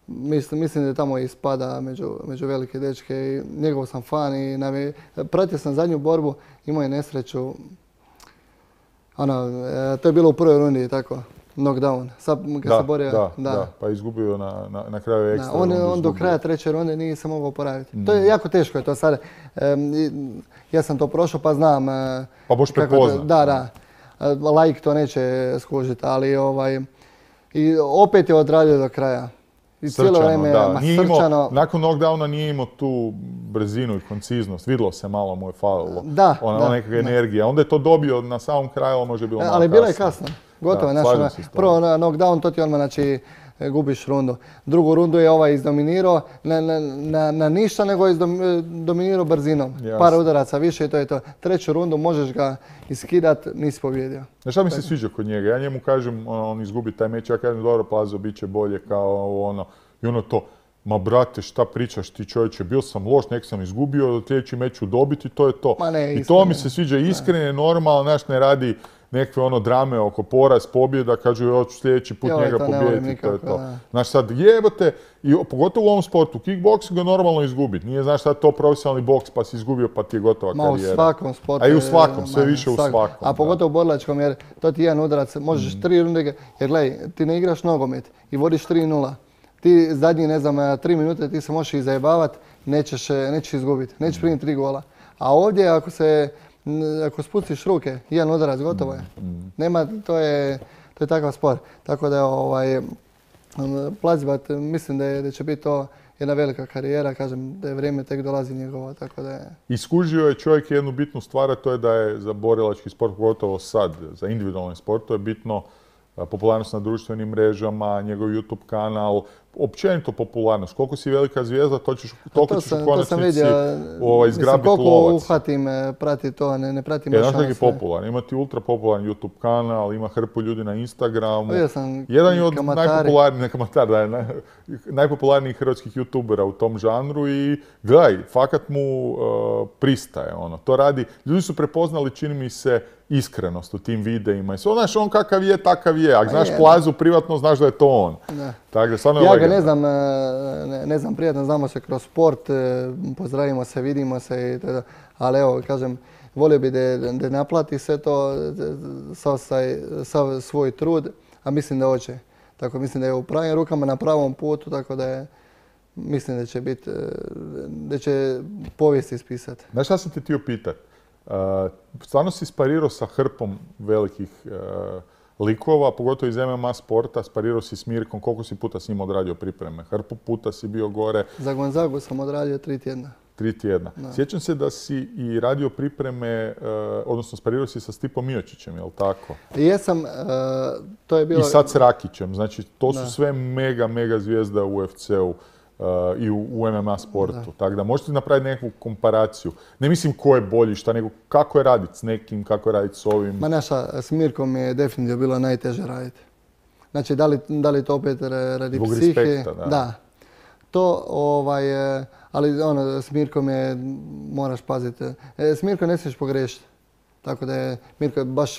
mislim, mislim da tamo ispada među, među velike dečke i njegov sam fan i navi, pratio sam zadnju borbu, imao je nesreću, ono, e, to je bilo u prvoj rundi, tako, knockdown. Sad kad da, se borio, da, da, da, pa izgubio na, na, na kraju ekstra da, on, rundu. On do kraja treće runde nije se mogao oporaviti. Mm. To je jako teško je to sad. E, ja sam to prošao pa znam. E, pa boš prepoznat. Da, da. Laik to neće skužiti, ali ovaj, i opet je odradio do kraja. I cijelo vrijeme, da. ma, Nije srčano. Imao, nakon knockdowna nije imao tu brzinu i konciznost. Vidjelo se malo mu je falilo. Da, ona, da, nekakva energija. Onda je to dobio na samom kraju, ali možda je bilo malo ali kasno. bilo je kasno. Gotovo je. Znači, prvo na knockdown, to ti odmah znači, gubiš rundu. Drugu rundu je ovaj izdominirao na, na, na, na ništa, nego je izdominirao brzinom. Jasne. Par udaraca više i to je to. Treću rundu možeš ga iskidat, nisi pobjedio. Znaš šta mi se sviđa kod njega? Ja njemu kažem, on, on izgubi taj meč, ja kažem dobro Plazo, bit će bolje kao ono. I ono to, ma brate, šta pričaš ti čovječe, bio sam loš, nek sam izgubio, sljedeći meč ću dobiti, to je to. Ma ne, I to mi se sviđa, iskreno, normalno, znaš, ne radi nekakve ono drame oko poraz, pobjeda, kažu ja ću sljedeći put jo, njega pobijediti, to je to. Da. Znaš sad, jebote, i pogotovo u ovom sportu, kickboxing je normalno izgubiti. Nije znaš sad to profesionalni boks pa si izgubio pa ti je gotova ma, karijera. U svakom sportu. A i u svakom, sve više svak. u svakom. A pogotovo u borilačkom jer to ti jedan udarac, možeš mm. tri runde, jer gledaj, ti ne igraš nogomet i vodiš tri nula. Ti zadnji, ne znam, tri minute ti se možeš i zajebavati, nećeš, nećeš izgubiti, nećeš primiti tri gola. A ovdje ako se Ako spustiš ruke, jedan udarac, gotovo je. Nema, to je, to je takav sport. Tako da je ovaj, Plazibat, mislim da, je, da će biti to jedna velika karijera, kažem da je vrijeme tek dolazi njegovo, tako da je... Iskužio je čovjek jednu bitnu stvar, a to je da je za borilački sport, pogotovo sad, za individualni sport, to je bitno popularnost na društvenim mrežama, njegov YouTube kanal, općenito popularnost. Koliko si velika zvijezda, to ćeš, toliko to ćeš sam, u konačnici to sam vidio, ovaj, izgrabiti koliko lovac. uhvatim, e, prati to, ne, ne pratim E, baš znaš kak je sve. popularan? Ima ti ultra popularan YouTube kanal, ima hrpu ljudi na Instagramu. Vidio sam Jedan je od kamatari. najpopularnijih, ne kamatar, da je naj, najpopularnijih hrvatskih YouTubera u tom žanru i gledaj, fakat mu uh, pristaje ono. To radi, ljudi su prepoznali, čini mi se, iskrenost u tim videima. I sve, znaš, on kakav je, takav je. Ako znaš je, Plazu privatno, znaš da je to on. Da. Tako da, stvarno je Ja ga legenda. ne znam, e, ne, ne znam prijatno, znamo se kroz sport, e, pozdravimo se, vidimo se i tada. Ali evo, kažem, volio bi da, da naplati sve to, sav, sav svoj trud, a mislim da hoće. Tako mislim da je u pravim rukama, na pravom putu, tako da je, mislim da će biti, da će povijest ispisati. Znaš šta sam te htio pitat? Uh, stvarno si sparirao sa hrpom velikih uh, likova, pogotovo iz M M A sporta, sparirao si s Mirkom, koliko si puta s njim odradio pripreme? Hrpu puta si bio gore. Za Gonzagu sam odradio tri tjedna. Tri tjedna. Da. Sjećam se da si i radio pripreme, uh, odnosno sparirao si sa Stipom Miočićem, jel tako? I jesam, uh, to je bilo... I sad s Rakićem, znači to su Da. sve mega, mega zvijezda u U F C-u. Uh, i u, u M M A sportu. Tako da možete napraviti neku komparaciju. Ne mislim ko je bolji šta, nego kako je raditi s nekim, kako je raditi s ovim. Ma naša, s Mirkom je definitivno bilo najteže raditi. Znači, da li, da li to opet radi Zbog psihe? respekta, da. Da. To, ovaj, e, ali ono, s Mirkom je, moraš paziti. E, S Mirkom ne smiješ pogriješiti. Tako da je, Mirko je baš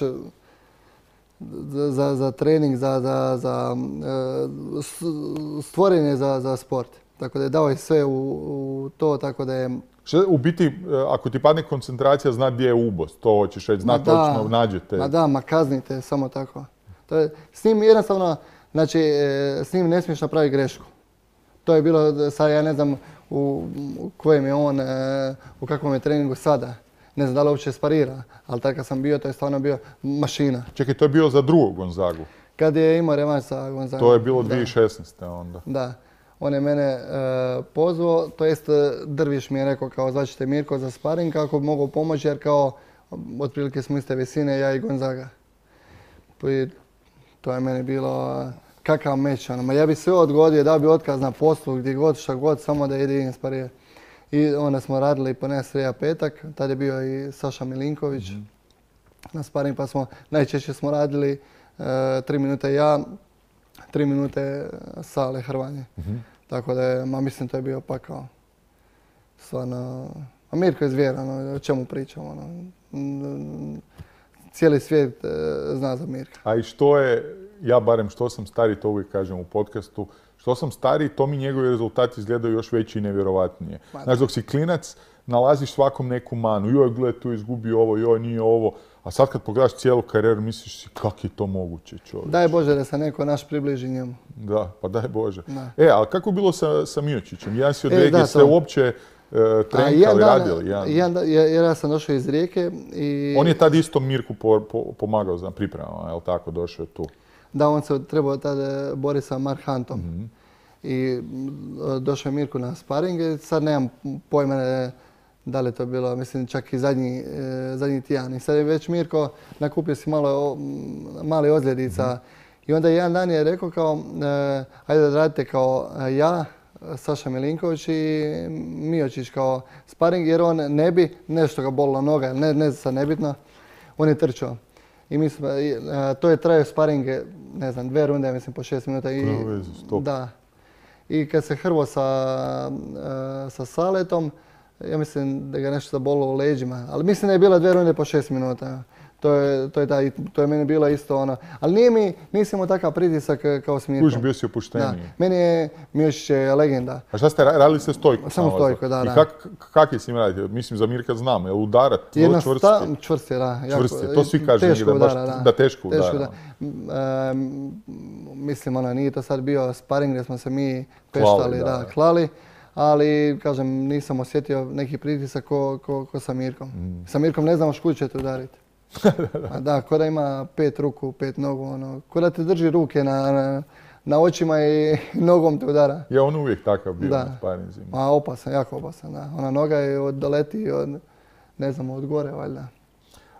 za, za, za trening, za, za, za e, s- stvoren je za, za sport. Tako da je dao je sve u, u to, tako da je... Što, u biti, uh, ako ti padne koncentracija, zna gdje je ubos. To hoćeš reći, zna Ma da, točno, nađete. Ma da, ma kaznite, samo tako. To je, s njim jednostavno, znači, e, s njim ne smiješ napraviti grešku. To je bilo, sad ja ne znam u, u kojem je on, e, u kakvom je treningu sada. Ne znam da li uopće sparira, ali tad kad sam bio, to je stvarno bio mašina. Čekaj, to je bilo za drugog Gonzagu. Kad je imao revanš sa Gonzagom. To je bilo Da. dvije tisuće šesnaeste. onda. Da. On je mene e, pozvao, to jest e, Drviš mi je rekao kao zvaćete Mirko za sparing kako bi mogao pomoći jer kao otprilike smo iste visine, ja i Gonzaga. I to je meni bilo e, kakav meč. Ono. Ma ja bi sve odgodio, dao bi otkaz na poslu, gdje god, šta god, samo da idem sparirati. I onda smo radili ponedjeljak, srijeda, petak, tad je bio i Saša Milinković Mhm. na sparing, pa smo, najčešće smo radili e, tri minute ja, tri minute Sale Hrvanje. Mhm. Tako da je, ma mislim to je bio pakao. Stvarno, a Mirko je zvijer, ono, o čemu pričamo, ono. Mm, Cijeli svijet e, zna za Mirka. A i što je, ja barem što sam stariji, to uvijek kažem u podcastu, što sam stariji, to mi njegovi rezultati izgledaju još veći i nevjerovatnije. Ma da. Znaš, dok si klinac, nalaziš svakom neku manu. Joj, gledaj, tu je izgubio ovo, joj, nije ovo. A sad kad pogledaš cijelu karijeru, misliš si, kako je to moguće, čovječ? Daj Bože da se neko naš približi njemu. Da, pa daj Bože. Da. E, ali kako je bilo sa, sa Miočićem? Jedan si od E, Rijeke, da, ste to. uopće e, A trenkali, jedan dan- radili? Jedan. jedan dan- jer jer ja sam došao iz Rijeke i... On je tad isto Mirku po- po- pomagao za pripremama, jel tako, došao je tu? Da, on se trebao tada boriti sa Mark Huntom. Mhm. I mm, došao je Mirko na sparing i sad nemam pojma ne, da li je to bilo, mislim čak i zadnji, e, zadnji tjedan. I sad je već Mirko nakupio si malo o- m, mali ozljedica. I onda jedan dan je rekao kao, e, ajde da radite kao e, ja, Saša Milinković i Miočić kao sparing jer on ne bi, nešto ga bolilo noga, ne, ne sad nebitno, on je trčao. I mi smo, i, e, to je trajao sparing, ne znam, dve runde, mislim po šest minuta. I, Nema veze, stop. Da. I kad se hrvo sa, e, sa Saletom, ja mislim da ga nešto zabolilo u leđima. Ali mislim da je bila dve runde po šest minuta. To je, to je, taj, to je meni bilo isto ono. Ali nije mi, nisam imao takav pritisak kao s Mirkom. Kužiš, bio si Da. opušteniji. Meni je Miošić je legenda. A šta ste ra- radili ste stojku? Samo vas? stojku, da, I da. kak, kak je s njim raditi? Mislim, za Mirka znam, je li udarat, vrlo Jedna čvrsti? sta, čvrst je, da. jako- Čvrst je, to svi kažu teško negdje, da baš- udara, da. da teško udara, udara. M, e, mislim, ono, nije to sad bio sparing gdje smo se mi peštali, da, da, da. klali. Ali, kažem, nisam osjetio neki pritisak ko, ko, ko sa Mirkom. Mm. Sa Mirkom ne znamo škud će te udariti. A da, ko da ima pet ruku, pet nogu, ono, ko da te drži ruke na, na, na očima i nogom te udara. Je on uvijek takav bio Da. na sparinzima. A opasan, jako opasan, da. Ona noga je od, doleti od, ne znam, od gore, valjda.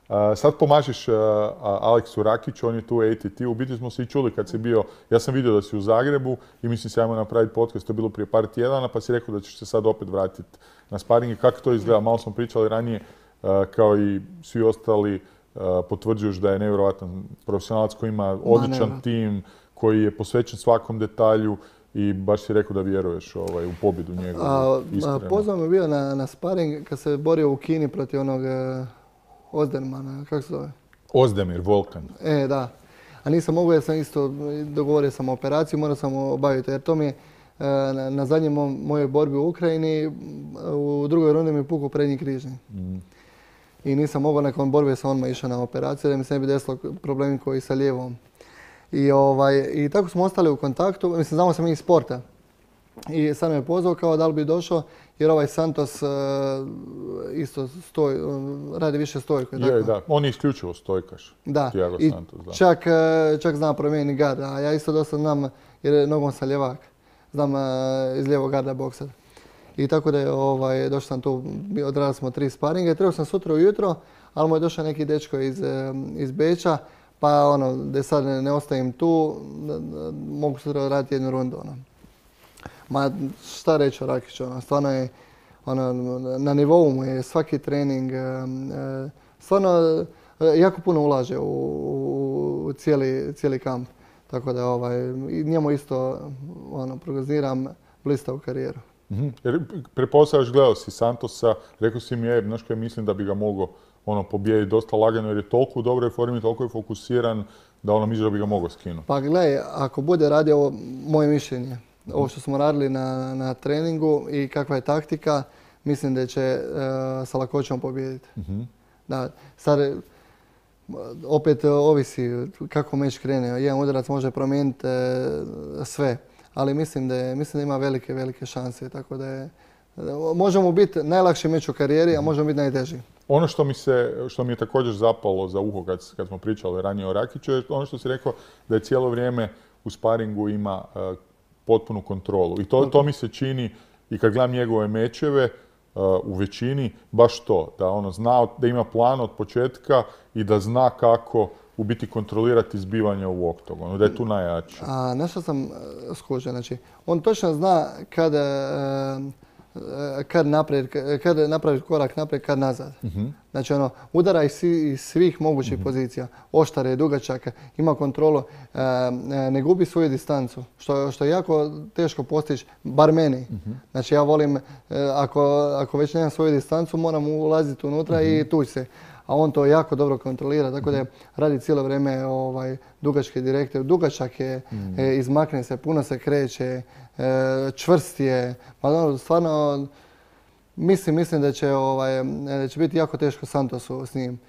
Uh, sad pomažeš uh, Aleksu Rakiću, on je tu A T T. U biti smo se i čuli kad si bio, ja sam vidio da si u Zagrebu i mislim se ajmo napraviti podcast, to je bilo prije par tjedana, pa si rekao da ćeš se sad opet vratiti na sparing. Kako to izgleda? Malo smo pričali ranije, uh, kao i svi ostali, uh, potvrđuješ da je nevjerojatan profesionalac koji ima odličan Ma, tim, koji je posvećen svakom detalju i baš si rekao da vjeruješ ovaj, u pobjedu njegovu. Pozvao me bio na, na sparing kad se borio u Kini protiv onog uh, Ozdermana, kako se zove? Ozdemir, Volkan. E, da. A nisam mogu jer sam isto dogovorio sam operaciju, morao sam obaviti jer to mi je uh, na, na zadnjoj mojoj borbi u Ukrajini u drugoj rundi mi je pukao prednji križni. Mm. I nisam mogao nakon borbe sam odmah išao na operaciju da mi se ne bi desilo problemi koji sa lijevom. I, ovaj, I tako smo ostali u kontaktu, mislim znamo se mi iz sporta. I sad me je pozvao kao da li bi došao jer ovaj Santos uh, isto stoj, uh, radi više stojku. Je, da, on je isključivo stojkaš. Da, Thiago i Santos, da. Čak, uh, čak znam promijeniti gard, a ja isto dosta znam jer je nogom sam ljevak. Znam uh, iz lijevog garda boksat. I tako da je ovaj, došao sam tu, odradili smo tri sparinge. Trebao sam sutra ujutro, ali mu je došao neki dečko iz, iz Beča. Pa ono, da sad ne, ne ostavim tu, da, da, mogu sutra raditi jednu rundu. Ono. Ma šta reći o Rakiću, ono, stvarno je, ono, na nivou mu je svaki trening, stvarno jako puno ulaže u, u cijeli, cijeli kamp. Tako da ovaj, njemu isto ono, prognoziram blistavu karijeru. Mm-hmm. Jer prepostavljaš, gledao si Santosa, rekao si mi je, znaš kaj mislim da bi ga mogao ono, pobijediti dosta lagano jer je toliko u dobroj formi, toliko je fokusiran da ono misli da bi ga mogao skinuti. Pa gledaj, ako bude radio ovo moje mišljenje, mm-hmm. ovo što smo radili na, na treningu i kakva je taktika, mislim da će uh, sa lakoćom pobijediti. Mm-hmm. Da, sad, opet ovisi kako meč krene. Jedan udarac može promijeniti uh, sve, ali mislim da, je, mislim da ima velike, velike šanse. Tako da je, možemo biti najlakši meč u karijeri, a možemo biti najteži. Ono što mi, se, što mi je također zapalo za uho kad, kad smo pričali ranije o Rakiću je ono što si rekao da je cijelo vrijeme u sparingu ima uh, potpunu kontrolu. I to, to mi se čini i kad gledam njegove mečeve uh, u većini, baš to. Da ono zna, da ima plan od početka i da zna kako u biti kontrolirati zbivanje u oktogonu, da je tu najjači. A nešto sam skužio, znači on točno zna kada uh, kad naprijed, kad napravi korak naprijed, kad nazad. Uh-huh. Znači ono, udara iz svih mogućih uh-huh. pozicija. Oštare, dugačaka, ima kontrolu, e, ne gubi svoju distancu, što, što je jako teško postići, bar meni. Uh-huh. Znači ja volim, e, ako, ako već nemam svoju distancu, moram ulaziti unutra uh-huh. i tući se. A on to jako dobro kontrolira, tako da radi cijelo vrijeme ovaj, dugačke direkte. Dugačak je, mm. e, izmakne se, puno se kreće, e, čvrst je. Pa, no, stvarno, mislim, mislim da će, ovaj, da će biti jako teško Santosu s njim.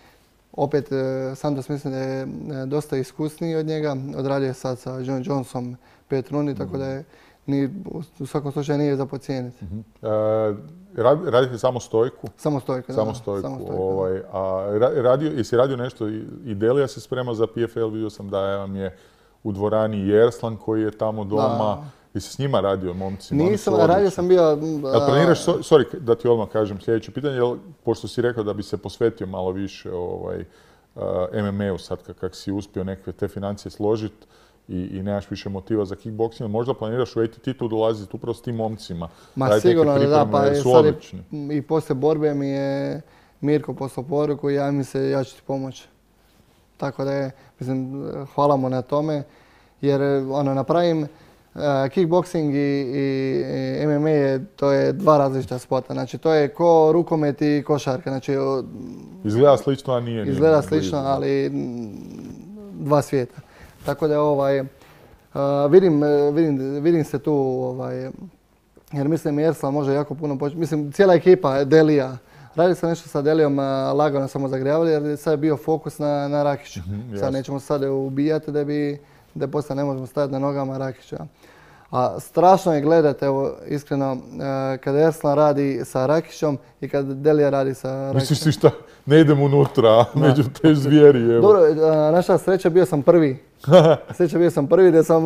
Opet, e, Santos mislim da je dosta iskusniji od njega. Odradio je sad sa John Johnsonom pet rundi, mm. tako da je ni, u svakom slučaju nije za podcijeniti. Mm-hmm. Uh, radite samo stojku? Samo stojku, samo stojku. Samo stojku ovaj, a radio, jesi radio nešto, i Delija se sprema za P F L, vidio sam da vam je u dvorani Jerslan koji je tamo doma. Da. Jesi s njima radio, momci? Nisam, radio sam bio... Jel planiraš, sorry da ti odmah kažem sljedeće pitanje, jel, pošto si rekao da bi se posvetio malo više ovaj, uh, M M A-u sad kak si uspio neke te financije složiti, I, i nemaš više motiva za kickboxing, možda planiraš u A T T-tu dolaziti upravo s tim momcima. Ma sigurno da, pa je sad i, i poslije borbe mi je Mirko poslao poruku i ja mi se, ja ću ti pomoći. Tako da je, mislim, hvala mu na tome, jer ono, napravim uh, kickboxing i, i, i M M A, je, to je dva različita sporta. Znači, to je ko rukomet i košarka. Znači, izgleda slično, a nije. Izgleda nije slično, ali dva svijeta. Tako da ovaj, uh, vidim, vidim, vidim se tu, ovaj, jer mislim Jerslan može jako puno početi. Mislim, cijela ekipa, Delija. Radi se nešto sa Delijom, uh, lagano samo zagrijavali jer sad je bio fokus na, na Rakiću. Mm-hmm, sad nećemo sad ubijati da bi, da poslije ne možemo staviti na nogama Rakića. A strašno je gledati, evo, iskreno, uh, kada Jerslan radi sa Rakićom i kada Delija radi sa Rakićom. Misliš ti šta, ne idem unutra, među te zvijeri, evo. Dobro, uh, naša sreća, bio sam prvi. Sreća bio sam prvi da sam,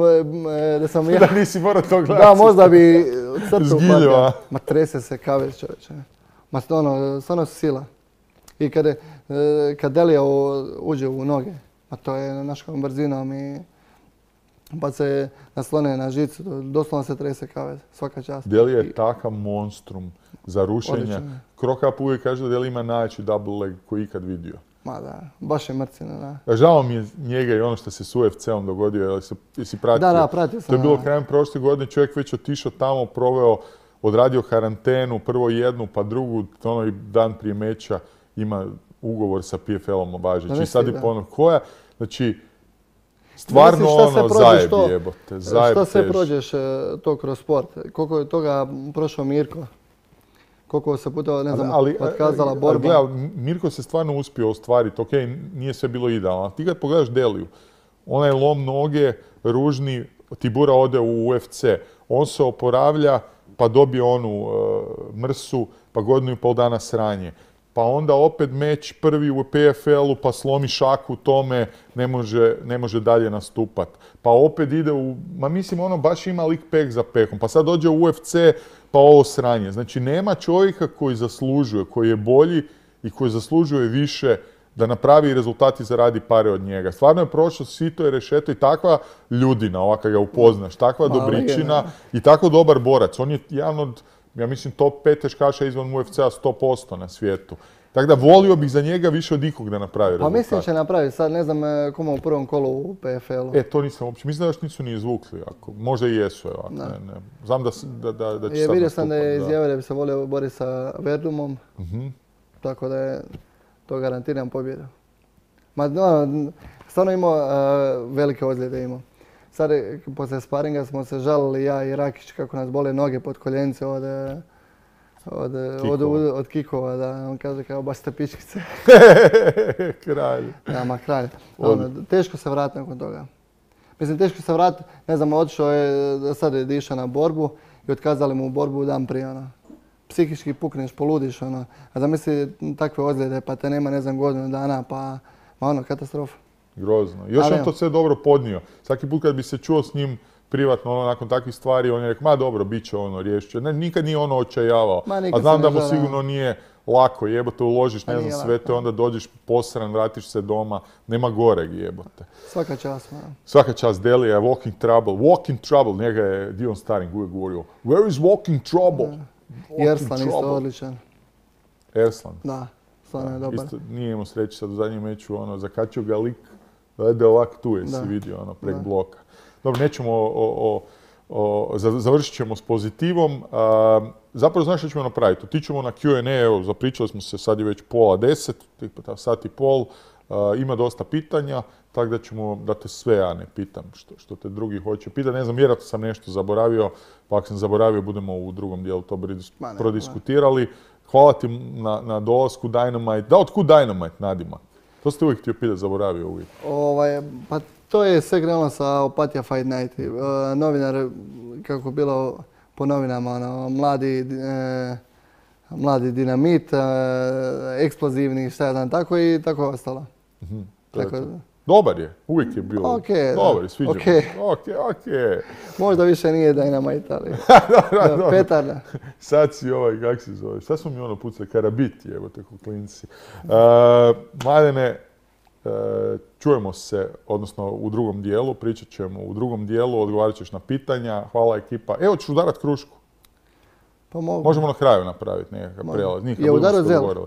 da sam ja... Da nisi morao to gledati. Da, možda bi crtu upadio. Ma trese se kaver, čovječe. Ma ono, stvarno su sila. I kad, je, e, kad Delija u- uđe u noge, a to je naškom brzinom i pa se naslone na žicu, doslovno se trese kavez, svaka čast. Delija je I- takav monstrum za rušenje. Odličan. Krokap uvijek kaže da Delija ima najjači double leg koji je ikad vidio. Ma da, baš je mrcina, da. Žao mi je njega i ono što se s U F C-om dogodio, jesi, jesi pratio? Da, da, pratio sam. To je bilo da. krajem prošle godine, čovjek već otišao tamo, proveo, odradio karantenu, prvo jednu, pa drugu, ono i dan prije meča ima ugovor sa P F L-om važeći. I sad je da. ponovno koja, znači, stvarno Mislim, šta sve ono, prođeš zajeb to? jebote, zajeb Šta sve tež. prođeš e, to kroz sport? Koliko je toga prošao Mirko? Koliko se puta, ne znam, otkazala ali, borba? gledaj, Mirko se stvarno uspio ostvariti, ok, nije sve bilo idealno, ali ti kad pogledaš Deliju, onaj lom noge, ružni, Tibura ode u U F C, on se oporavlja, pa dobije onu e, mrsu, pa godinu i pol dana sranje. Pa onda opet meč prvi u P F L-u, pa slomi šaku u tome, ne može, ne može dalje nastupat. Pa opet ide u, ma mislim ono baš ima lik peh za pehom, pa sad dođe u U F C, pa ovo sranje. Znači nema čovjeka koji zaslužuje, koji je bolji i koji zaslužuje više da napravi rezultat i zaradi pare od njega. Stvarno je prošlo sito i rešeto i takva ljudina, ovako ga upoznaš, takva Ma, dobričina legenda. i tako dobar borac. On je jedan od, ja mislim, top pet teškaša izvan U F C-a sto posto na svijetu. Tako da volio bih za njega više od ikog da napravi Pa rezultat. mislim će napraviti, sad ne znam e, kome u prvom kolu u P F L-u. E, to nisam uopće, mislim da još nisu ni izvukli. Ako. Možda i jesu, evo, Da. ne, ne. Znam da, s- da, da, da će Je, sad vidio sam da je nastupat, izjavio da bi se volio boriti sa Verdumom, Mhm. tako da je to garantiram pobjedu. Ma no, stvarno imao e, velike ozljede imao. Sad e, poslije sparinga smo se žalili ja i Rakić kako nas bole noge pod koljenice od, e, od, e, od, Kikova. od kikova, da on kaže kao baš ste pičkice. Kralj. Ja, ma kralj. Od- Ono, teško se vratiti nakon toga. Mislim, teško se vratiti, ne znam, otišao je, sad je išao na borbu i otkazali mu borbu dan prije, ono. Psihički pukneš, poludiš, ono. A zamisli takve ozljede, pa te nema, ne znam, godinu dana, pa, ma ono, katastrofa. Grozno. Još Ali on evo. to sve dobro podnio. Svaki put kad bi se čuo s njim privatno, ono, nakon takvih stvari, on je rekao, ma dobro, bit će ono, riješit će. Ne, nikad nije ono očajavao. Ma, A nikad znam se da ne mu žali, sigurno nije lako, jebote, uložiš, Pa ne nije znam, sve lako. te, onda dođeš posran, vratiš se doma, nema goreg, jebote. Svaka čast, ma. Svaka čast Delija, Walking Trouble. Walking Trouble, njega je Dion Staring uvijek govorio, where is Walking Trouble? I Walking Erslan isto Trouble. odličan. Erslan. Da, stvarno je dobar. Isto nije imao sreće sad u zadnjem meču, ono, zakačio ga lik, da je ovak tu, jesi Da. vidio, ono, prek Da. bloka. Dobro, nećemo, o, o, o, za- završit ćemo s pozitivom. A, zapravo, znaš što ćemo napraviti? Otićemo na Q and A, evo, zapričali smo se, sad je već pola deset, tipa sat i pol, a, ima dosta pitanja, tako da ćemo, da te sve ja ne pitam što, što te drugi hoće pitati. Ne znam, vjerojatno sam nešto zaboravio, pa ako sam zaboravio, budemo u drugom dijelu to brodis- Ma ne, prodiskutirali. Hvala ti na, na dolasku Dynamite. Da, otkud Dynamite, Nadima? To ste uvijek htio pitati, zaboravio uvijek. Ovaj, pa to je sve krenulo sa Opatija Fight Night. E, novinar, kako je bilo po novinama, ono, mladi, e, mladi dinamit, e, eksplozivni, šta ja znam, tako i tako ostalo. Mhm, to je Tako, to. Dobar je, uvijek je bilo. Ok, da. Dobar je, sviđa mi Ok. se. Ok, ok. možda više nije Dynamite, ali Dobro, da, dobro. petarda. Sad si ovaj, kak se zove, šta smo mi ono pucali, karabit, evo te ko klinci. Uh, Mladene, uh, čujemo se, odnosno u drugom dijelu, pričat ćemo u drugom dijelu, odgovarat ćeš na pitanja, hvala ekipa. Evo ćeš udarat krušku, Pa mogu. možemo na kraju napraviti nekakav Može. prijelaz. Nikad Je budemo udarao se Zelg? dogovorili.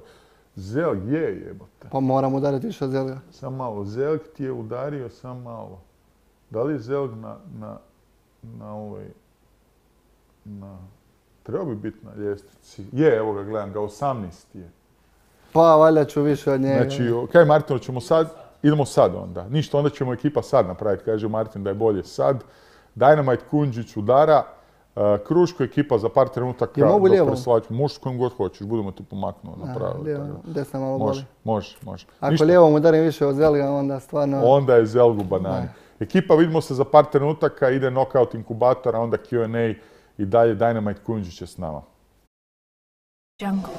Zelg je jebote. Pa moram udariti više od Zelga. Sam malo, Zelg ti je udario sam malo. Da li je Zelg na, na, na ovaj, na, treba bi biti na ljestvici. Je, evo ga, gledam ga, osamnaest je. Pa valjda ću više od njega. Znači, o- kaj Martino, ćemo sad, idemo sad onda. Ništa, onda ćemo ekipa sad napraviti, kaže Martin da je bolje sad. Dynamite Kunđić udara, uh, Kruško ekipa za par trenutaka. Je mogu dok lijevom? preslačimo. Možeš s kojim god hoćeš, budemo ti pomaknuo A, napravili. lijevo, tako da. desna malo Može, boli. može, može. Ako Ništa. lijevom udarim više od Zelga, onda stvarno... Onda je Zelgu banani. Ekipa, vidimo se za par trenutaka, ide knockout inkubatora, onda Q and A i dalje Dynamite Kunđić je s nama. Jungle.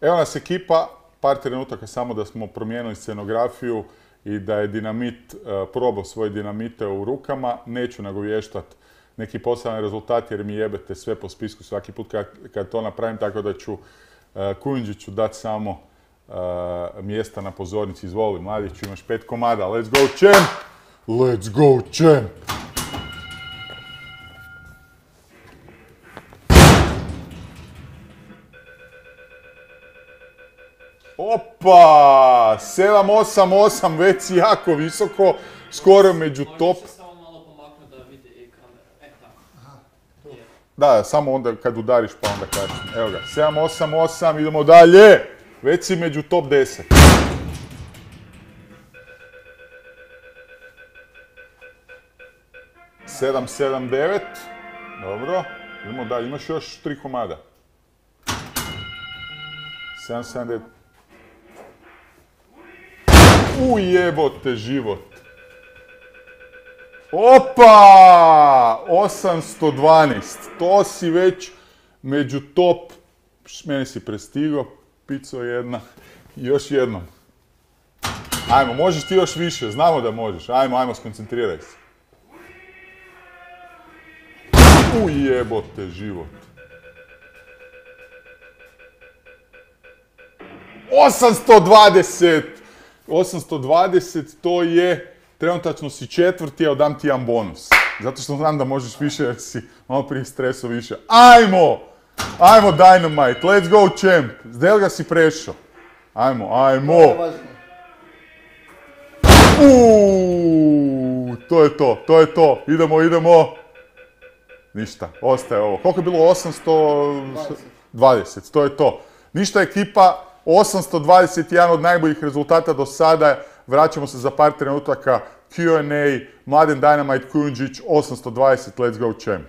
Evo nas ekipa, par trenutaka samo da smo promijenili scenografiju i da je Dinamit uh, probao svoje dinamite u rukama. Neću nagovještati neki poseban rezultat jer mi jebete sve po spisku svaki put kad, kad to napravim, tako da ću uh, Kujundžiću dati samo uh, mjesta na pozornici. Izvoli, mladiću, imaš pet komada. Let's go, champ! Let's go, champ! Opa! sedam osam osam, već si jako visoko, skoro među top. Možeš se samo malo pomaknuti da vidi ekran. E, tako. Da, samo onda kad udariš pa onda kažem. Evo ga, sedam osam osam, idemo dalje! Već si među top deset. sedam sedam devet. Dobro, idemo dalje, imaš još tri komada. sedam sedam devet. Ujebote život. Opa! osamsto dvanaest. To si već među top. Meni si prestigao. Pico jedna. Još jednom. Ajmo, možeš ti još više. Znamo da možeš. Ajmo, ajmo, skoncentriraj se. Ujebote život. osamsto dvadeset! osamsto dvadeset, to je, trenutačno si četvrti, a dam ti jedan bonus. Zato što znam da možeš više jer si malo prije streso više. Ajmo! Ajmo Dynamite, let's go champ! Zdel ga si prešao. Ajmo, ajmo! Uuuu, to je to, to je to. Idemo, idemo. Ništa, ostaje ovo. Koliko je bilo? osamsto dvadeset, to je to. Ništa ekipa. osamsto dvadeset jedan od najboljih rezultata do sada. Vraćamo se za par trenutaka. Q and A, Mladen Dynamite Kujundžić, osamsto dvadeset, let's go champ.